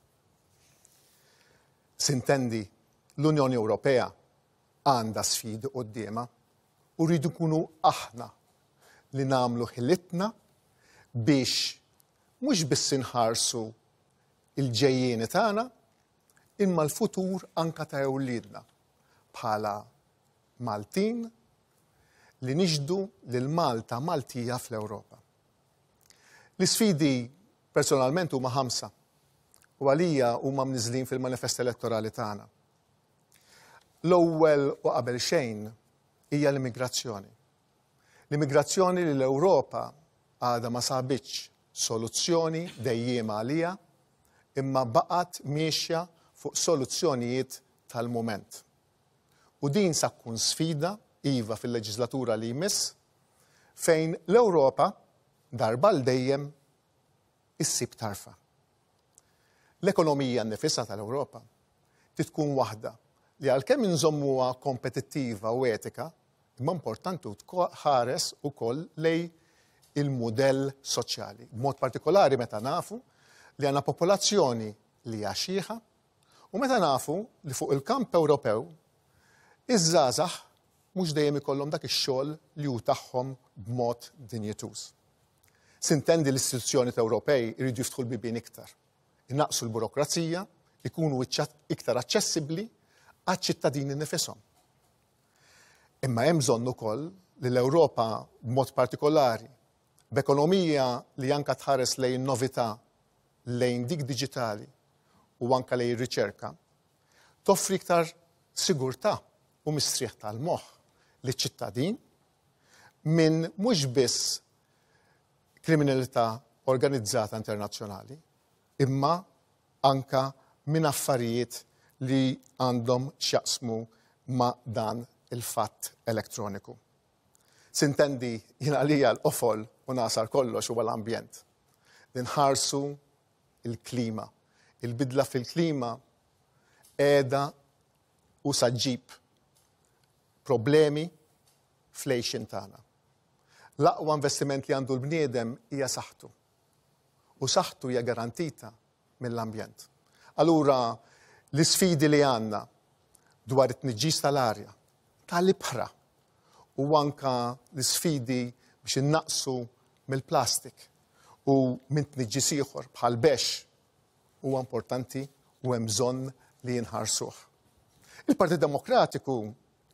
Speaker 6: Sintendi, l-Unjoni Ewropea għandha sfidi quddiemha u rridu nkunu aħna li nagħmlu ħilitna biex mhux biss inħarsu il-ġejjieni tagħna, imma l-futur anka ta' wliedna bħala Maltin li nixhdu lil Malta Maltija fl-Ewropa. L-isfidi personalment huma ħamsa u għalija huma mniżlin fil-manifest elettorali tagħna. L-ewwel u qabel xejn hija l-immigrazzjoni. L-immigrazzjoni li l-Ewropa għadha ma sabitx soluzzjoni dejjiema għalija, imma baqgħet miexja fuq soluzzjonijiet tal-moment. U din sa tkun sfida iva fil-leġislatura li jmiss, fejn l-Ewropa darba l dejjem issib tarfa. L-ekonomija nnifisha tal-Ewropa tkun waħda li għalkemm inżommuha kompetittiva u etika, imma importanti tħares ukoll lejn il-mudell soċjali. B'mod partikolari meta nafu li għandna popolazzjoni li hija xieħa u meta nafu li fuq il-kamp Ewropew iż-żgħażagħ mhux dejjem ikollhom dak ix-xogħol li hu tagħhom b'mod dinjituż. Sintendi l-istituzzjoni Ewropej iridu jiftħu l-bibien iktar, inaqqsu l-burokrazija, ikunu iktar aċċessibbli għaċ-ċittadini nifishom. Imma hemm bżonn ukoll li l-Ewropa b'mod partikolari, b'ekonomija li anka tħares lejn novità, lejn dik diġitali u anka lejn riċerka, toffri iktar sigurtà u mistrieħ tal-moħħ liċ-ċittadin minn mhux biss kriminalità organizzata internazzjonali, imma anka minn affarijiet li għandhom x'jaqsmu ma' dan il-fatt elettroniku. Sintendi jien għalija l-qofol u nasar kollox huwa l-ambjent. Ninħarsu il-klima. Il-bidla fil-klima qiegħda u saġġib problemi fl-għixien tagħna. L-aqwa investiment li għandu l-bniedem hija saħħtu. U saħħtu hija garantita mill-ambjent. Allura l-isfidi li għandna dwar it-tniġġis tal-arja, tal-ibħra, u anka l-isfidi biex innaqsu mill-plastik u minn tniġġis ieħor bħal bex huwa importanti u hemm bżonn li jinħarsuh. Il-Partit Demokratiku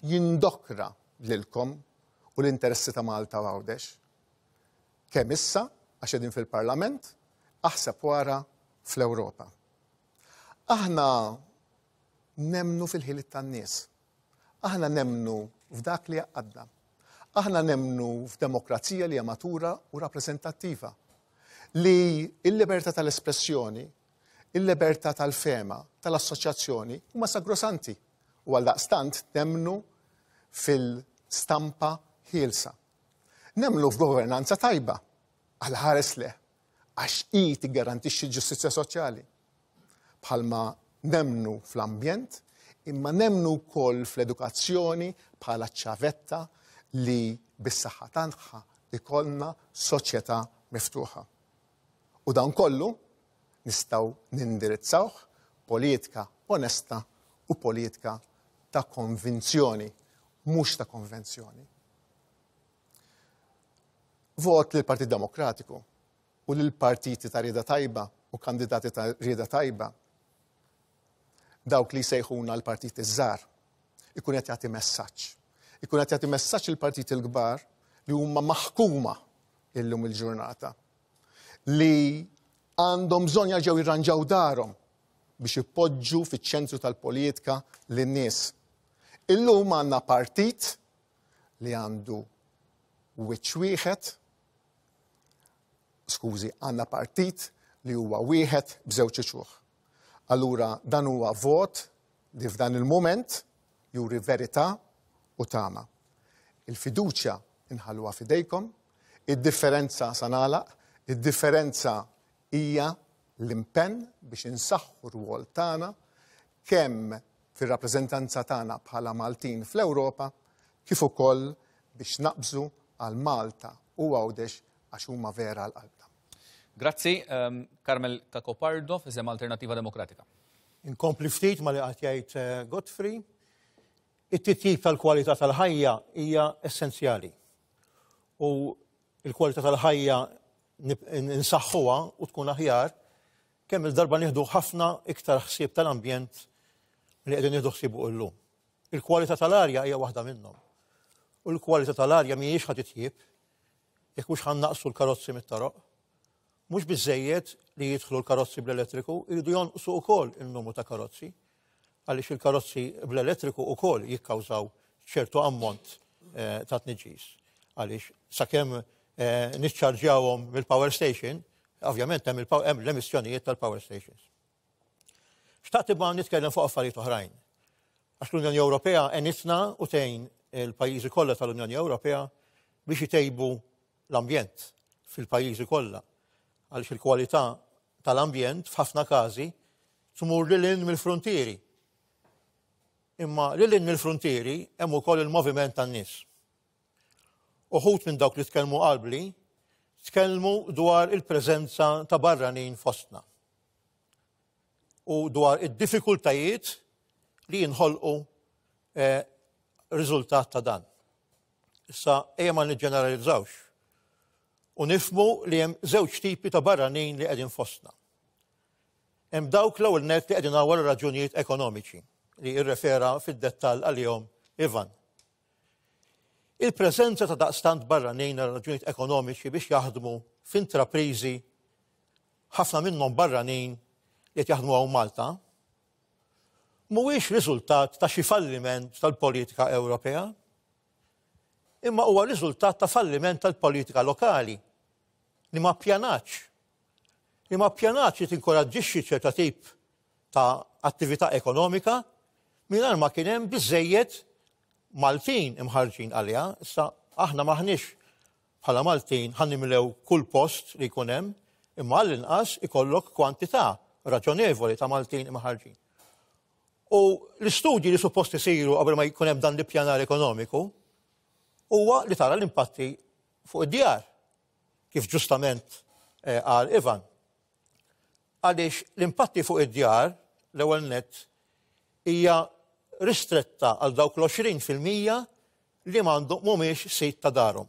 Speaker 6: jindokra lilkom u l-interessi ta' Malta u Għawdex. Kemm issa, għax qegħdin fil-Parlament, aħseb wara fl-Ewropa. Aħna nemnu fil-ħiliet tan-nies. Aħna nemnu f'dak li għadda. Aħna nemnu f'demokrazija li hija matura u rappreżentattiva. Li il-libertà tal-espressjoni, il-libertà tal-fema, tal-assoċjazzjoni huma sagrosanti. U għaldaqstant nemnu fil-stampa ħielsa. Nemnu f'governanza tajba, għal ħares le, għax hi tiggarantixxi l-ġustizzja soċjali. Bħalma nemnu fl-ambjent, imma nemnu wkoll fl-edukazzjoni bħala ċavetta li bis-saħħa tagħha ikollna soċjetà miftuħa. U dan kollu nistgħu nindirizzawh politika onesta u politika ta' konvinzjoni, mhux ta' konvenzjoni. Vot lill-Partit Demokratiku u lill-partiti ta' rieda tajba u kandidati ta' rieda tajba, dawk li sejħuna l-partiti żgħar, ikun qed jagħti messaġġ. Ikun qed jagħti messaġġ il-partiti l-kbar li huma maħkuma illum il-ġurnata, li għandhom bżonn jerġgħu jirranġaw darhom biex ipoġġu fiċ-ċentru tal-politika lin-nies. Illum għandna partit li għandu wiċċ wieħed, skużi, għandna partit li huwa wieħed b'żewġ uċuħ. Allura dan huwa vot li f'dan il-moment juri verità u tama. Il-fiduċja inħalluha f'idejkom, id-differenza sa nagħlaq, id-differenza hija l-impenn biex insaħħu r-rwol tagħna kemm fir-rappreżentanza tagħna bħala Maltin fl-Ewropa kif ukoll biex naqbżu għal Malta u Għawdex għax huma vera għal qalbna.
Speaker 1: Grazzi, um, Carmel Cacopardo, f'isem Alternativa Demokratika.
Speaker 4: Inkompli ftit ma li qed jgħid eh, Godfrey, it-titjib tal-kwalità tal-ħajja hija essenzjali. U l-kwalità tal-ħajja nsaħħuha u tkun aħjar, kemm il-darba nieħdu ħafna iktar ħsieb tal-ambjent li qegħdin nieħdu ħsiebu llum. Il-kwalità tal-arja hija waħda minnhom. U l-kwalità tal-arja mhijiex ħa titjieb jekk mhux ħa nnaqqsu l-karozzi mit-toroq. Mhux biżejjed li jidħlu l-karozzi bl-elettriku, jridu jonqsu wkoll il-numru ta' karozzi, għaliex il-karozzi bl-elettriku wkoll jikkawżaw ċertu ammont ta' tniġġis. Għaliex sakemm niċċarġjawhom mill-power station, ovvjament hemm l-emissjonijiet tal-power stations. Xtaqt imma nitkellem fuq affarijiet oħrajn. Għax l-Unjoni Ewropea għenitna u tgħin il-pajjiżi kollha tal-Unjoni Ewropea biex itejbu l-ambjent fil-pajjiżi kollha. Għaliex il-kwalità tal-ambjent f'ħafna każi tmur lil hinn mill-frontieri. Imma lil hinn mill-frontieri hemm ukoll il-moviment tan-nies. Uħud minn dawk li tkellmu qabli tkellmu dwar il-preżenza ta' barranin fostna u dwar id-diffikultajiet li jinħolqu eh, riżultat ta' dan. Issa ejja ma niġġeneralizzawx u nifhmu li hemm żewġ tipi ta' barranin li qegħdin fostna. Hemm dawk l-ewwel nett li qegħdin għal raġunijiet ekonomiċi li irrefera fid-dettall għalihom Ivan. Il-preżenza ta' daqstant barranin għal raġunijiet ekonomiċi biex jaħdmu f'intrapriżi ħafna minnhom barranin li qed jaħdmu hawn Malta mhuwiex riżultat ta' xi falliment tal-politika Ewropea, imma huwa riżultat ta' falliment tal-politika lokali li ma ppjanatx. Li ma ppjanatx li tinkoraġġixxi ċerta tip ta' attività ekonomika mingħajr ma kien hemm biżejjed Maltin imħarġin għaliha. Issa aħna maħniex bħala Maltin ħa nimlew kull post li jkun hemm, imma għall-inqas ikollok kwantità raġonevoli ta' Maltin imħarġin. U l-istudji li suppost isiru qabel ma jkun hemm dan l-ippjanar ekonomiku huwa li tara l-impatti fuq id-djar, kif ġustament qal Ivan. Għaliex l-impatti fuq id-djar l-ewwel nett hija ristretta għal dawk l-għoxrin fil-mija li m'għandhom mhumiex sit ta' darhom.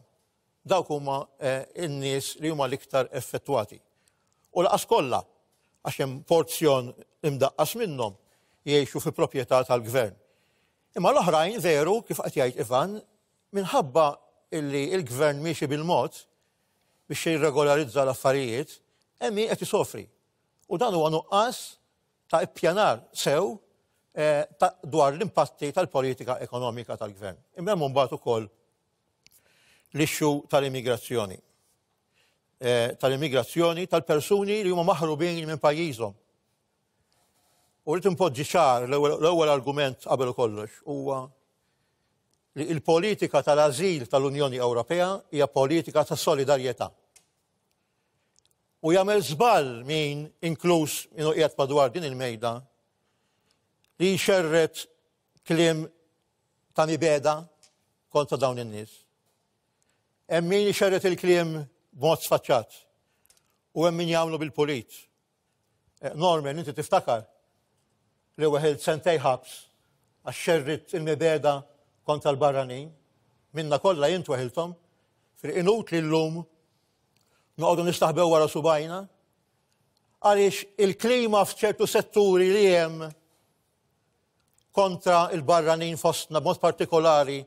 Speaker 4: Dawk huma n-nies li huma l-iktar effettwati. U laqas kollha, għax hemm porzjon imdaqqas minnhom jgħixu fi proprjetà tal-gvern. Imma l-oħrajn veru, kif qed jgħid Ivan, minħabba illi il-gvern miexi bil-mod biex jirregolarizza l-affarijiet, hemm min qed isofri. U dan huwa nuqqas ta' ippjanar sew dwar l-impatti tal-politika ekonomika tal-gvern. Imma hemm mbagħad ukoll l-issue tal-immigrazzjoni. Tal-immigrazzjoni tal-persuni li huma maħrubin minn pajjiżhom. U rrid impoġġi ċar l-ewwel argument qabel kollox huwa li l-politika tal-ażil tal-Unjoni Ewropea hija politika ta' solidarjetà. U jagħmel żball min inkluż min qiegħed madwar din il-mejda li jxerret kliem ta' mibeda kontra dawn in-nies. Hemm min jxerret il-kliem b'mod sfaċċat u hemm min jagħmlu bil-pulit. Norman, inti tiftakar li weħilt sentej ħabs għax xerrit il-mibeda kontra l-barranin, minna kollha jint weħilthom, fil-inut li llum noqogħdu nistaħbew wara subajna, għaliex il-klima f'ċertu setturi li hemm kontra il-barranin fostna, b'mod partikolari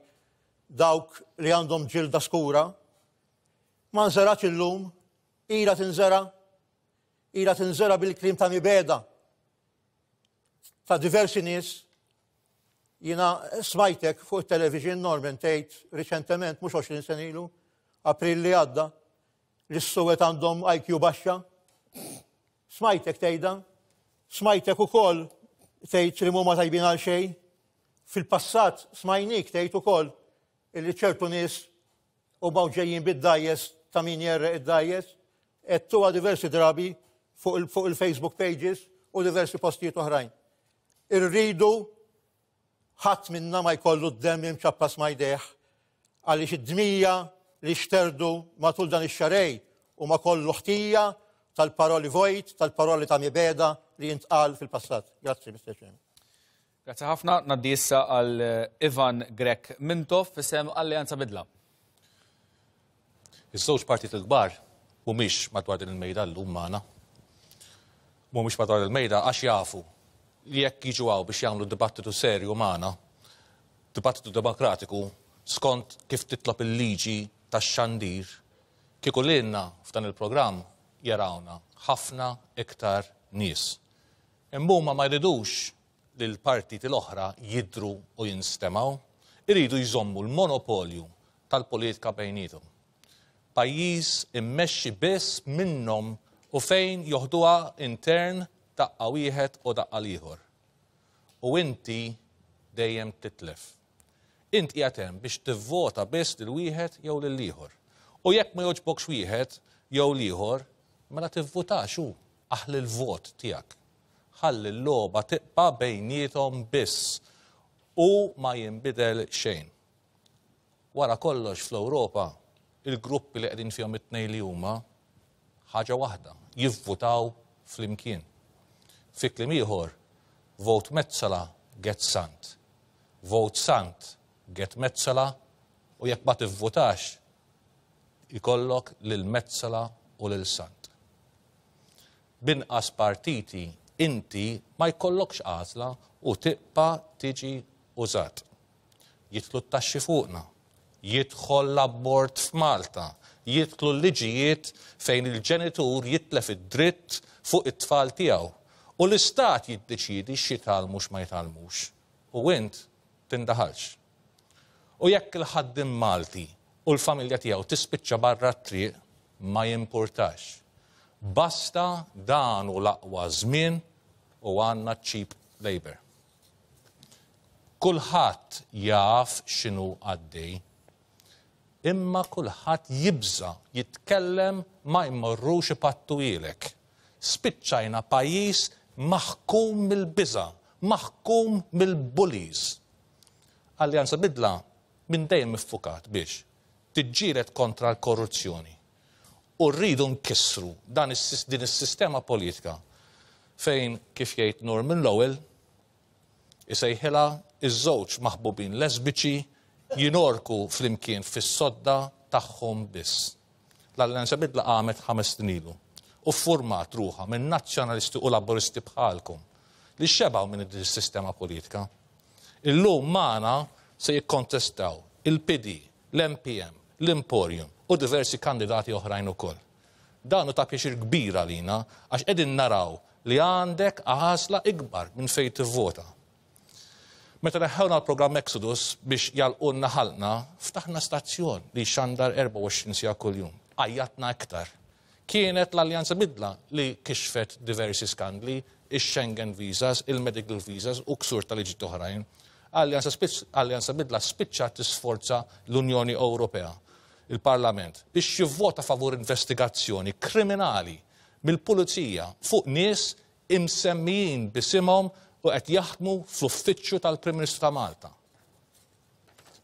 Speaker 4: dawk li għandhom ġilda skura, ma nżerax illum, ila tinżera, ila tinżera bil-klim ta' mibeda ta' diversi nies. Jiena smajtek fuq il-television, Norman, tgħid riċentement, mhux għoxrin sena ilu, April li għadda, li s-suwed għandhom I Q baxxa. Smajtek tgħidha, smajtek ukoll tgħid li mhuma tajbin għal xejn. Fil-passat smajnik tgħid ukoll illi ċertu nies huma ġejjin bid-dajjes ta' min jerreq id-dajjes, għedtuha diversi drabi fuq il-Facebook pages u diversi postijiet oħrajn. Irridu ħadd minna ma jkollu d-demm imċappas ma jdejh għaliex id-dmija li xterdu matul dan ix-xarej u ma kollu ħtija tal-paroli vojt, tal-paroli ta' mibeda li jintqal fil-passat. Grazzi, Mister Chairman.
Speaker 1: Grazzi ħafna. Naddi issa għal Ivan Grech Mintoff f'isem Alleanza Bidla.
Speaker 7: Iż-żewġ partit il-kbar Mhumiex madwar din il-mejda llum magħna. Mhumiex madwar il-mejda għax jafu li jekk jiġu hawn biex jagħmlu dibattitu serju magħna, dibattitu demokratiku, skont kif titlob il-liġi tax-xandir, kieku lilna f'dan il-programm jarawna ħafna iktar nies. Imma huma ma jridux li l-partiti l-oħra jidhru u jinstemgħu, iridu jżommu l-monopolju tal-politika bejniethom. Pajjiż immexxi biss minnhom u fejn joħduha intern daqqa wieħed u daqqa l-ieħor. U inti dejjem titlef. Int qiegħed hemm biex tivvota biss lil wieħed jew lil ieħor. U jekk ma jogħġbokx wieħed jew l-ieħor, mela tivvutax hu, aħli l-vot tiegħek. Ħalli l-logħba tibqa' bejniethom biss u ma jinbidel xejn. Wara kollox fl-Ewropa, il-gruppi li qegħdin fihom it-tnejn li huma ħaġa waħda, jivvutaw flimkien. Fi kliem ieħor, vote Metsola, get Sant. Vote Sant, get Metsola, u jekk ma tivvutax, ikollok lil Metsola u lil Sant. B'inqas partiti inti ma jkollokx għażla u tibqa' tiġi użat. Jidħlu t-taxxi fuqna, jidħol l-abort f'Malta, jidħlu l-liġijiet fejn il-ġenitur jitlef id-dritt fuq it-tfal tiegħu. U l-istat jiddeċidi x'jitgħallmu x'ma jitgħallmux. U int tindaħalx. U jekk il-ħaddiem Malti u l-familja tiegħu tispiċċa barra t-triq, ma jimpurtax. Basta dan hu l-aqwa żmien u għandna cheap labor. Kulħadd jaf x'inhu għaddej, imma kulħadd jibża jitkellem ma jmorrux ipattuhielek. Spiċċajna pajjiż maħkum mill-biża, maħkum mill-bullies. Alleanza Bidla minn dejjem iffukat biex tiġġieled kontra l-korruzzjoni. U rridu nkissru dan is-sis-, din is-sistema politika fejn, kif jgħid Norman Lowell, isejħilha iż-żewġ maħbubin lesbiċi jinorku flimkien fis-sodda tagħhom biss. L-Alleanza Bidla qamet ħames snin ilu u format ruħha minn nazzjonalisti u laboristi bħalkom li xebgħu minn din is-sistema politika. Illum magħna se jikkontestaw il-P D, l-M P M, l-Emporium u diversi kandidati oħrajn ukoll. Dan hu ta' pjaċir kbir għalina għax qegħdin naraw li għandek għażla ikbar minn fejn tivvota. Meta neħħewna l-programm Exodus biex jagħlqulna ħalqna, ftaħna stazzjon li xandar erbgħa u għoxrin siegħa kuljum. Għajjatna iktar. Kienet l-Alleanza Bidla li kixfet diversi skandli, ix-Schengen visas, il-medical visas u ksur tal-liġi oħrajn. Alleanza Alleanza Bidla spiċċa tisforza l-Unjoni Ewropea, il-Parlament, biex jivvota favur investigazzjoni kriminali mill-pulizija fuq nies imsemmijin b'isimhom u qed jaħdmu fl-uffiċċju tal-Prim Ministru ta' Malta.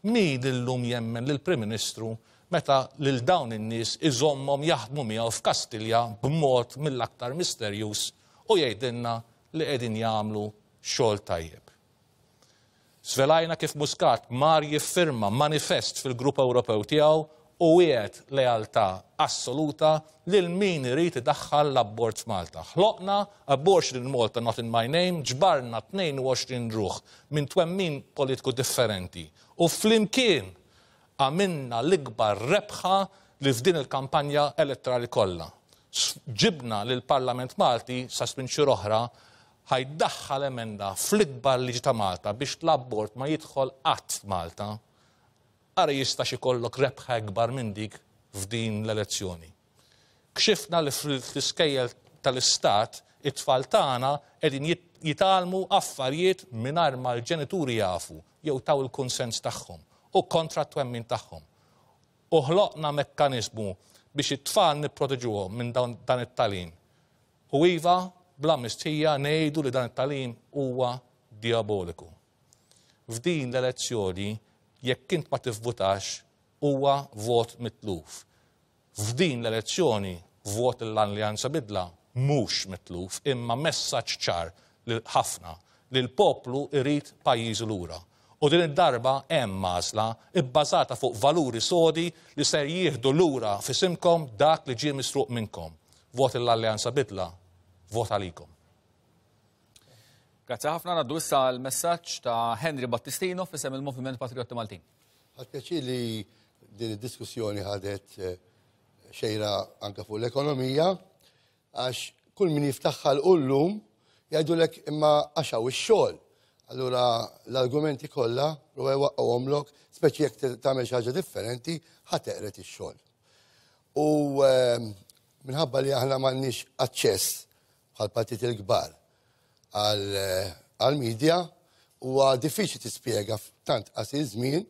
Speaker 7: Min illum jemmen lill-Prim Ministru meta lil dawn in-nies iżommhom jaħdmu miegħu f'Kastilja b'mod mill-aktar misterjuż u jgħidilna li qegħdin jagħmlu xogħol tajjeb? Svelajna kif Muscat mar jiffirma manifest fil-Grupp Ewropew tiegħu u wiegħed lealtà assoluta lil min irid idaħħal l-abort f'Malta. Ħloqna Abortion in Malta Not in My Name, ġbarna tnejn u għoxrin ruħ minn twemmin politiku differenti. U flimkien għamilna l-ikbar rebħa li f'din il-kampanja elettorali kollha. Ġibna lill-Parlament Malti sa minn xhur oħra ħa jdaħħal emenda fl-ikbar liġi ta' Malta biex l-abort ma jidħol qatt Malta. Ara jistax ikollok rebħa ikbar minn dik f'din l-elezzjoni. Kxifna li fl-iskejjel tal-istat it-tfal tagħna qegħdin jitgħallmu affarijiet mingħajr ma l-ġenituri jafu jew taw il-kunsens tagħhom u kontra t-twemmin tagħhom. U ħloqna mekkaniżmu biex it-tfal nipproteġuhom minn dan it-tagħlim. U iva, bla mistħija ngħidu li dan it-tagħlim huwa diaboliku. F'din l-elezzjoni, jekk int ma tivvutax, huwa vot mitluf. F'din l-elezzjoni, vot l-Alleanza Bidla mhux mitluf, imma messaġġ ċar li ħafna li l-poplu irid pajjiżu lura. U din id-darba hemm għażla ibbażata fuq valuri sodi li ser jieħdu lura f'isimkom dak li ġie misruq minnkom. Vot l-Alleanza Bidla, vot għalikom.
Speaker 1: Grazzi ħafna. Ngħaddu issa l-messaġġ ta' Henry Battistino f'isem il-Moviment Patriotti Maltin.
Speaker 2: Ħadt pjaċir li din id-diskussjoni ħadet eh, xejra anka fuq l-ekonomija, għax kull min jiftaħ ħalqu llum jgħidulek imma għax hawn ix-xogħol. Allura l-argumenti kollha prova jwaqqgħuhomlok, speċi jekk tagħmel xi ħaġa differenti, ħa teqred ix-xogħol. U eh, minħabba li aħna m'għandniex aċċess bħal partit il-kbar għal-medja, huwa diffiċli tispjega f'tant qasir żmien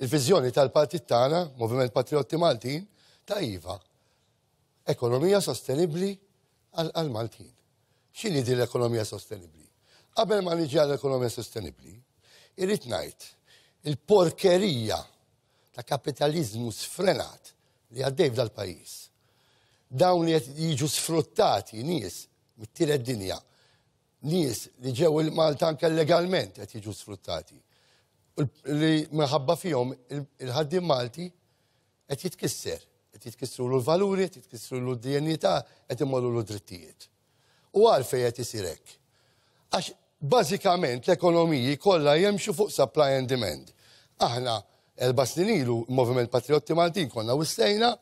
Speaker 2: il-viżjoni tal-partit tagħna, Moviment Patriotti Maltin, ta' iva. Ekonomija sostenibbli għal-Maltin. X'inhi din l-ekonomija sostenibbli? Qabel ma niġi għall-ekonomija sostenibbli, irrid ngħid il-porkerija ta' kapitalizmu sfrenat li għaddej f'dal-pajjiż. Dawn li qed jiġu sfruttati nies mit-tielet dinja, nies li ġew il-Malta anke legalment qed jiġu sfruttati. Li minħabba fihom il-ħaddiem Malti qed jitkisser, qed jitkissru l-valuri, qed jitkissru l-dinjità, qed imorru l-drittijiet. U għalfejn qed isir hekk? Għax bażikament l-ekonomiji kollha jemxu fuq supply and demand. Aħna erba' snin ilu Moviment Patriotti Maltin konna wissejna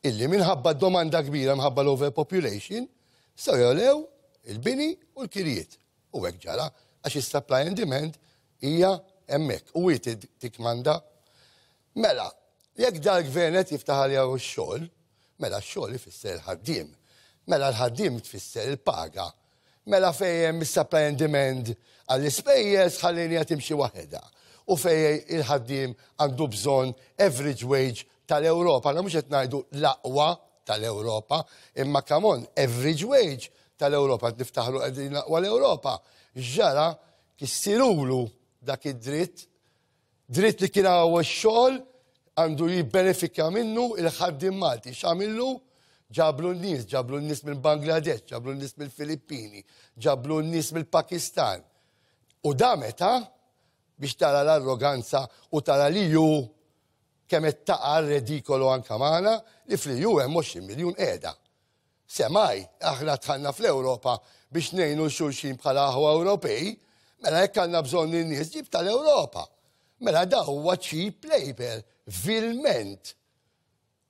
Speaker 2: illi minħabba domanda kbira, minħabba l-overpopulation, se jogħlew il-bini u l-kirjiet. U hekk ġara, għax is-supply and demand hija hemmhekk u hi tikkmanda. Mela, jekk dal-gvern qed jiftaħ għalija x-xogħol, mela x-xogħol ifisser il-ħaddiem. Mela l-ħaddiem tfisser il-paga. Mela fejn hemm is-supply and demand għall-ispejjeż ħallini timxi waħedha. U fejn il-ħaddiem għandu bżonn average wage tal-Ewropa. Aħna mhux qed ngħidu l-aqwa tal-Ewropa, imma come on, average wage tal-Ewropa, niftaħru qegħdin l-aqwa l-Ewropa. Ġara kissirulu dak id-dritt, dritt li kien hawn x-xogħol għandu jibbenefika minnu il-ħaddiem Malti. X'għamillu? Ġablu n-nies, ġablu n-nies mill Bangladesh, ġablu n-nies mill-Filippini, ġablu n-nies mill-Pakistan. U da meta biex tara l-arroganza u tara li ju kemm qed taqa' redikolu anka magħna li fl-E U hemm għoxrin miljun qiegħda. Semmai, aħna dħalna fl-Ewropa biex ngħinu xulxin bħala aħwa Ewropej, mela jekk għandna bżonn in-nies ġib tal-Ewropa. Mela da huwa cheap labor, vilment.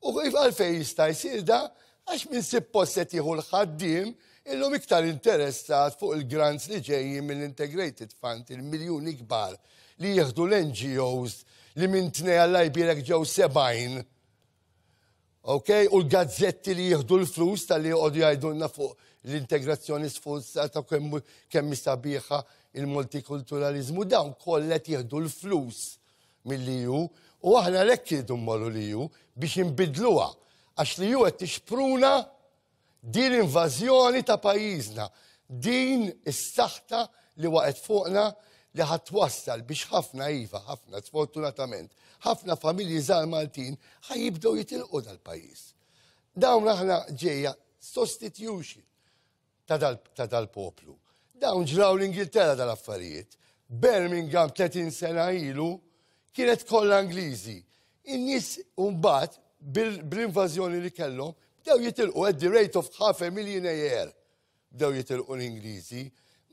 Speaker 2: U għalfejn jista' jsir da? Għax minn suppost qed jieħu l-ħaddiem illum iktar interessat fuq il-grants li ġejjin mill-Integrated Fund, il-miljuni kbar li jieħdu l-N G Os li minn tnej Alla jbierek ġew sebgħin. Ok, u l-gazzetti li jieħdu l-flus tal-li joqogħdu jgħidulna fuq l-integrazzjoni sforzata, kemm kemm sabiħa il-multikulturalizmu, dawn kollha jieħdu l-flus mill-E U u aħna lek jridu mmorru l-E U biex inbidluha, għax l-E U qed tixpruna din l-invażjoni ta' pajjiżna, din is-saħta li waqgħet fuqna li ħa twassal biex ħafna iva, ħafna, sfortunatament, ħafna familji żgħar Maltin ħa jibdew jitilqu dal-pajjiż. Dawn aħna ġejja sostitution ta' dal-poplu. Dawn ġraw l-Ingilterra dal-affarijiet. Birmingham tletin sena ilu kienet kollha Ingliżi. In-nies mbagħad bil-invażjoni li kellhom bdew jitilqu at the rate of half a million a year. Bdew jitilqu l-Ingliżi.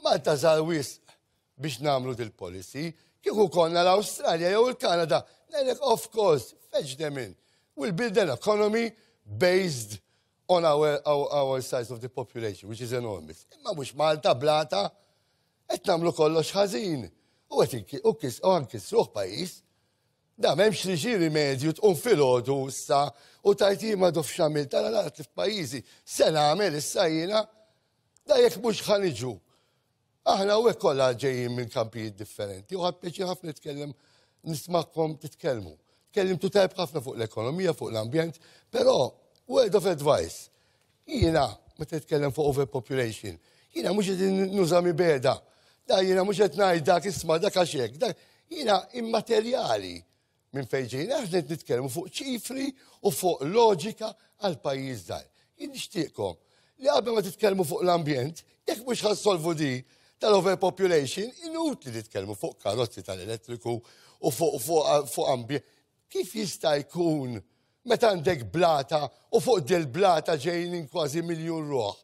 Speaker 2: Malta żgħar wisq biex nagħmlu dil-policy. Kieku konna l-Awstralja jew il-Kanada, ngħidlek of course, fetch them in. We'll build an economy based on our, our, our size of the population, which is enormous. Imma mhux Malta blata, qed nagħmlu kollox ħażin. U qed u kis u nkissruh pajjiż. Da m'hemmx li xi rimedju tqum filgħodu issa u tajt ma dof x'għamilt tara nara f'pajjiżi. Se nagħmel issa jiena da jekk mhux ħa niġu. Aħna u kollha ġejjin minn kampijiet differenti u ħadt pjaċir ħafna nitkellem, nismakom titkellmu. Tkellimtu tajb ħafna fuq l-ekonomija, fuq l-ambjent, però word of advice. Jiena meta titkellem fuq overpopulation, jiena mhux qed nuża mibegħda. Da jiena mhux qed ngħid dak isma' dak għax hekk, dak jiena immaterjali minn fejn ġejna, aħna qed nitkellmu fuq ċifri u fuq loġika għal pajjiż żgħir. Jien nixtieqkom li qabel ma titkellmu fuq l-ambjent, jekk mhux ħa ssolvu di Tal-overpopulation, inutli titkellmu fuq karozzi tal-elettriku u fuq fuq fuq ambjent. Kif jista' jkun meta għandek blata u fuq dil-blata ġejjin kważi miljun ruħ?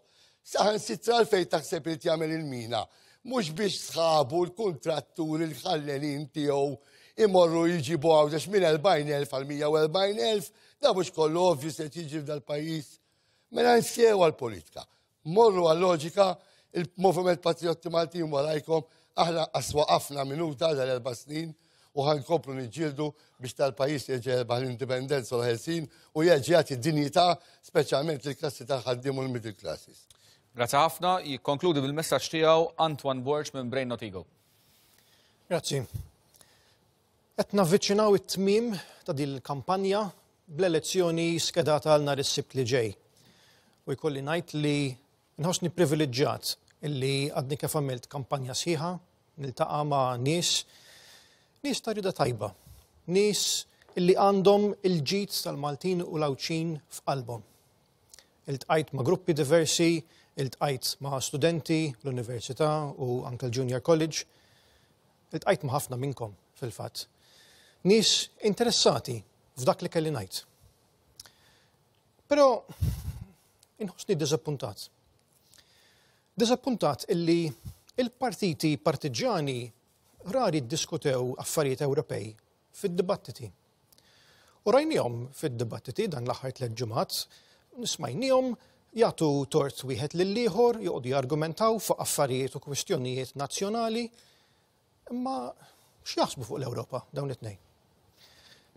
Speaker 2: Saħansitra għalfejn taħseb li jagħmel il-mina? Mhux biex sħabu l-kontratturi l-ħallelin tiegħu imorru jġibu Għawdex minn erbgħin elf għal mija u erbgħin elf, da mhux kollu ovvju se jiġi f'dal-pajjiż. Mela nsew għal-politika. Morru għal-loġika, il-Moviment Patriotti Maltin warajkom, aħna aswaqafna minuta dal-erba' snin u ħa nkomplu niġġieldu biex tal-pajjiż jerġa' jerbaħ l-indipendenza u l-ħelsin u jerġa' jagħti dinjità, speċjalment lill-klassi tal-ħaddiem u l-middle classes.
Speaker 1: Grazzi ħafna, jikkonkludi bil-messaġġ tiegħu Antoine Borg minn Brain Not Ego.
Speaker 5: Grazzi. Qed navviċinaw it-tmim ta' din il-kampanja bl-elezzjoni skedata għal nhar is-Sibt li ġej. U jkolli ngħid li nħossni privileġġjat illi għadni kif għamilt kampanja sħiħa, niltaqa' ma' nies, nies ta' rida tajba, nies illi għandhom il-ġid tal-Maltin u l-Għawdxin f'qalbhom. Iltqajt ma' gruppi diversi, iltqajt ma' studenti l-università u anke l-Junior College, iltqajt ma' ħafna minnkom fil-fatt. Nies interessati f'dak li kelli ngħid. Però inħossni diżappuntat. Diżappuntat illi il-partiti partiġjani rari ddiskutew affarijiet Ewropej fid-dibattiti. U rajnihom fid-dibattiti dan l-aħħar tliet ġimgħat, smajnihom jagħtu tort wieħed lill-ieħor, joqogħdu jargumentaw fuq affarijiet u kwistjonijiet nazzjonali, imma x'jaħsbu fuq l-Ewropa dawn it-tnejn?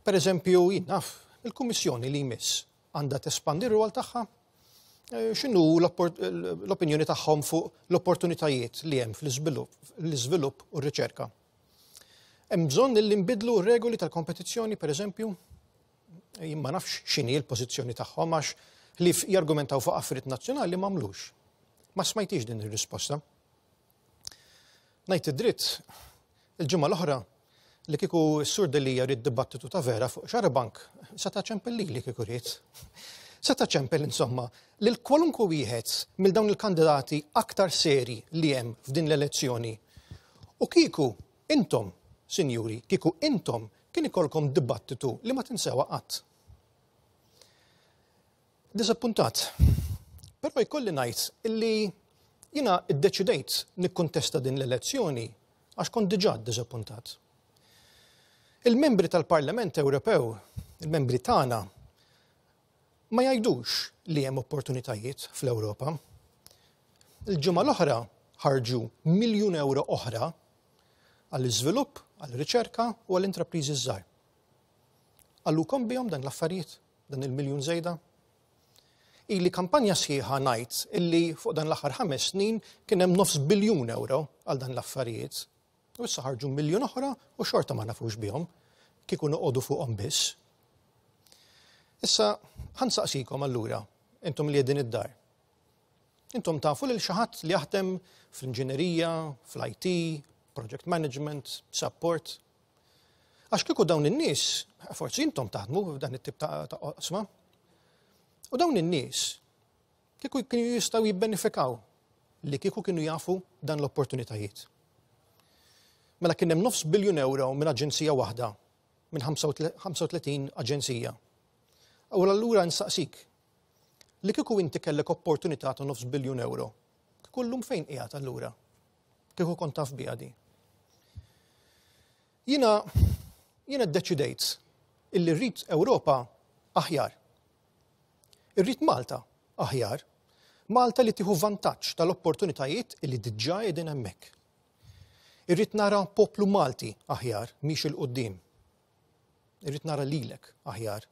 Speaker 5: Per eżempju, jien naf, il-Kummissjoni li jmiss għandha tespandi r-rwol tagħha? Eh, x'inhu l-opinjoni tagħhom fuq l-opportunitajiet li hemm fl-iżvilupp u r-riċerka? Hemm bżonn li nbidlu r-regoli tal-kompetizzjoni, per eżempju? Jien ma nafx x'inhi l-pożizzjoni tagħhom, għax li jargumentaw fuq affarijiet nazzjonali m'għamlux. Ma smajtix din ir-risposta. Ngħid id-dritt, il-ġimgħa l-oħra li kieku s-Sur Delia ried dibattitu ta' vera fuq Xarabank, seta' ċempel li li kieku ried. Seta' ċempel, insomma, lil kwalunkwe wieħed mill dawn il-kandidati aktar seri li hemm f'din l-elezzjoni. U kieku intom, sinjuri, kieku intom kien ikolkom dibattitu li ma tinsewa qatt. Disappuntat. Però jkolli ngħid illi jiena iddeċidejt nikkontesta din l-elezzjoni għax kont diġà disappuntat. Il-membri tal-Parlament Ewropew, il-membri tagħna, ma jgħidux li hemm opportunitajiet fl-Ewropa. Il-ġimgħa l-oħra ħarġu miljun euro oħra għall-iżvilupp, għall-riċerka u għall-intrapriżi żgħar. Qalulkom bihom dan l-affarijiet, dan il-miljun żejda? Ili kampanja sħiħa ngħid illi fuq dan l-aħħar ħames snin kien hemm nofs biljun euro għal dan l-affarijiet. U issa ħarġu miljun oħra u xorta ma nafux bihom, kieku noqogħdu fuqhom biss. Issa ħa nsaqsikom allura, intom li qegħdin id-dar. Intom tafu lil xi ħadd li jaħdem fl-inġinerija, fl-I T, project management, support? Għax kieku dawn in-nies, forsi intom taħdmu f'dan it-tip ta' oqsma. U dawn in-nies kieku kienu jistgħu jibbenefikaw li kieku kienu jafu dan l-opportunitajiet. Mela kien hemm nofs biljun euro minn aġenzija waħda, minn ħamsa u tletin aġenzija. U allura nsaqsik, li kieku inti kellek opportunità ta' nofs biljun euro, kieku llum fejn qiegħed allura? Kieku kont taf biha di. Jiena jiena ddeċidejt illi rrid Ewropa aħjar. Irrid Malta aħjar. Malta li tieħu vantaġġ tal-opportunitajiet illi diġà qegħdin hemmhekk. Irrid nara poplu Malti aħjar miexi 'l quddiem. Irrid nara lilek aħjar.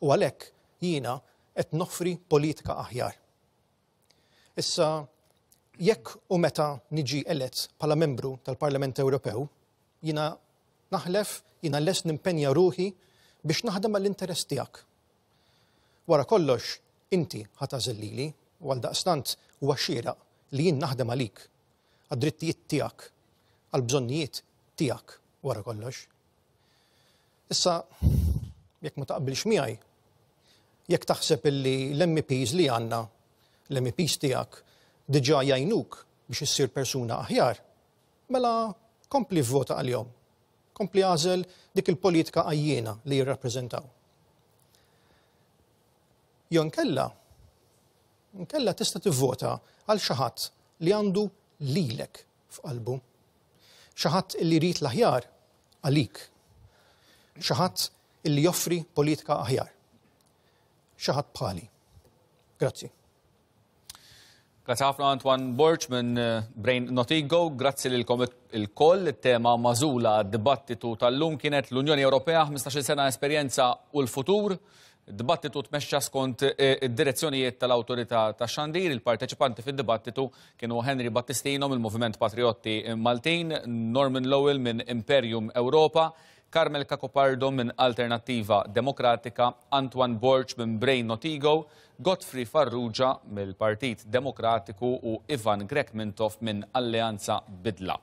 Speaker 5: U għalhekk jiena qed noffri politika aħjar. Issa, jekk u meta niġi elett bħala membru tal-Parlament Ewropew, jiena naħlef, jiena lest nimpenja ruħi biex naħdem għall-interess tiegħek. Wara kollox, inti ħa tagħżel lili u għaldaqstant huwa xieraq li jien naħdem għalik, għad-drittijiet tiegħek, għall-bżonnijiet tiegħek wara kollox. Issa, jekk ma taqbilx miegħi, jekk taħseb illi l-M E Ps li għandna, l-M E Ps tiegħek, diġà jgħinuk biex biex issir persuna aħjar, mela kompli vvota għalihom. Kompli għażel dik il-politika għajjiena li jirrappreżentaw. Jew inkella, inkella tista' tivvota għal xi ħadd li għandu lilek f'qalbu. Xi ħadd li jrid l-aħjar għalik. Xi ħadd li joffri politika aħjar. Xi ħadd bħali. Grazzi.
Speaker 1: Grazzi ħafna Antoine Borg minn Brain Not Ego, grazzi lilkom ilkoll. It-tema magħżula għad-dibattitu tal-lum kienet l-Unjoni Ewropea, ħmistax-il sena esperjenza u l-futur. Dibattitu tmexxa skont id-direzzjonijiet tal-Awtorità tax-Xandir. Il-parteċipanti fid-dibattitu kienu Henry Battistino mill-Moviment Patriotti Maltin, Norman Lowell minn Imperium Europa, Carmel Cacopardo minn Alternattiva Demokratika, Antoine Borg minn Brain Not Ego, Godfrey Farrugia mill-Partit Demokratiku u Ivan Grech Mintoff minn Alleanza Bidla.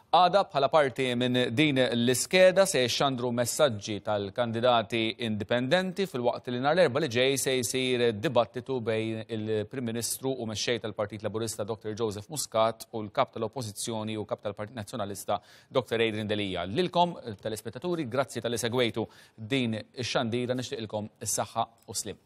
Speaker 1: Għada bħala parti minn din l-iskeda se jxandru messaġġi tal-kandidati indipendenti filwaqt li nhar l-Erbgħa li ġej se jsir dibattitu bejn il-Prim Ministru u mexxej tal-Partit Laburista Doktor Joseph Muscat u l-Kap tal-Oppożizzjoni u Kap tal-Partit Nazzjonalista Doktor Adrian Delia. Lilkom, telespettaturi, grazzi talli segwejtu din ix-xandira, nixtieqilkom is-saħħa u sliem.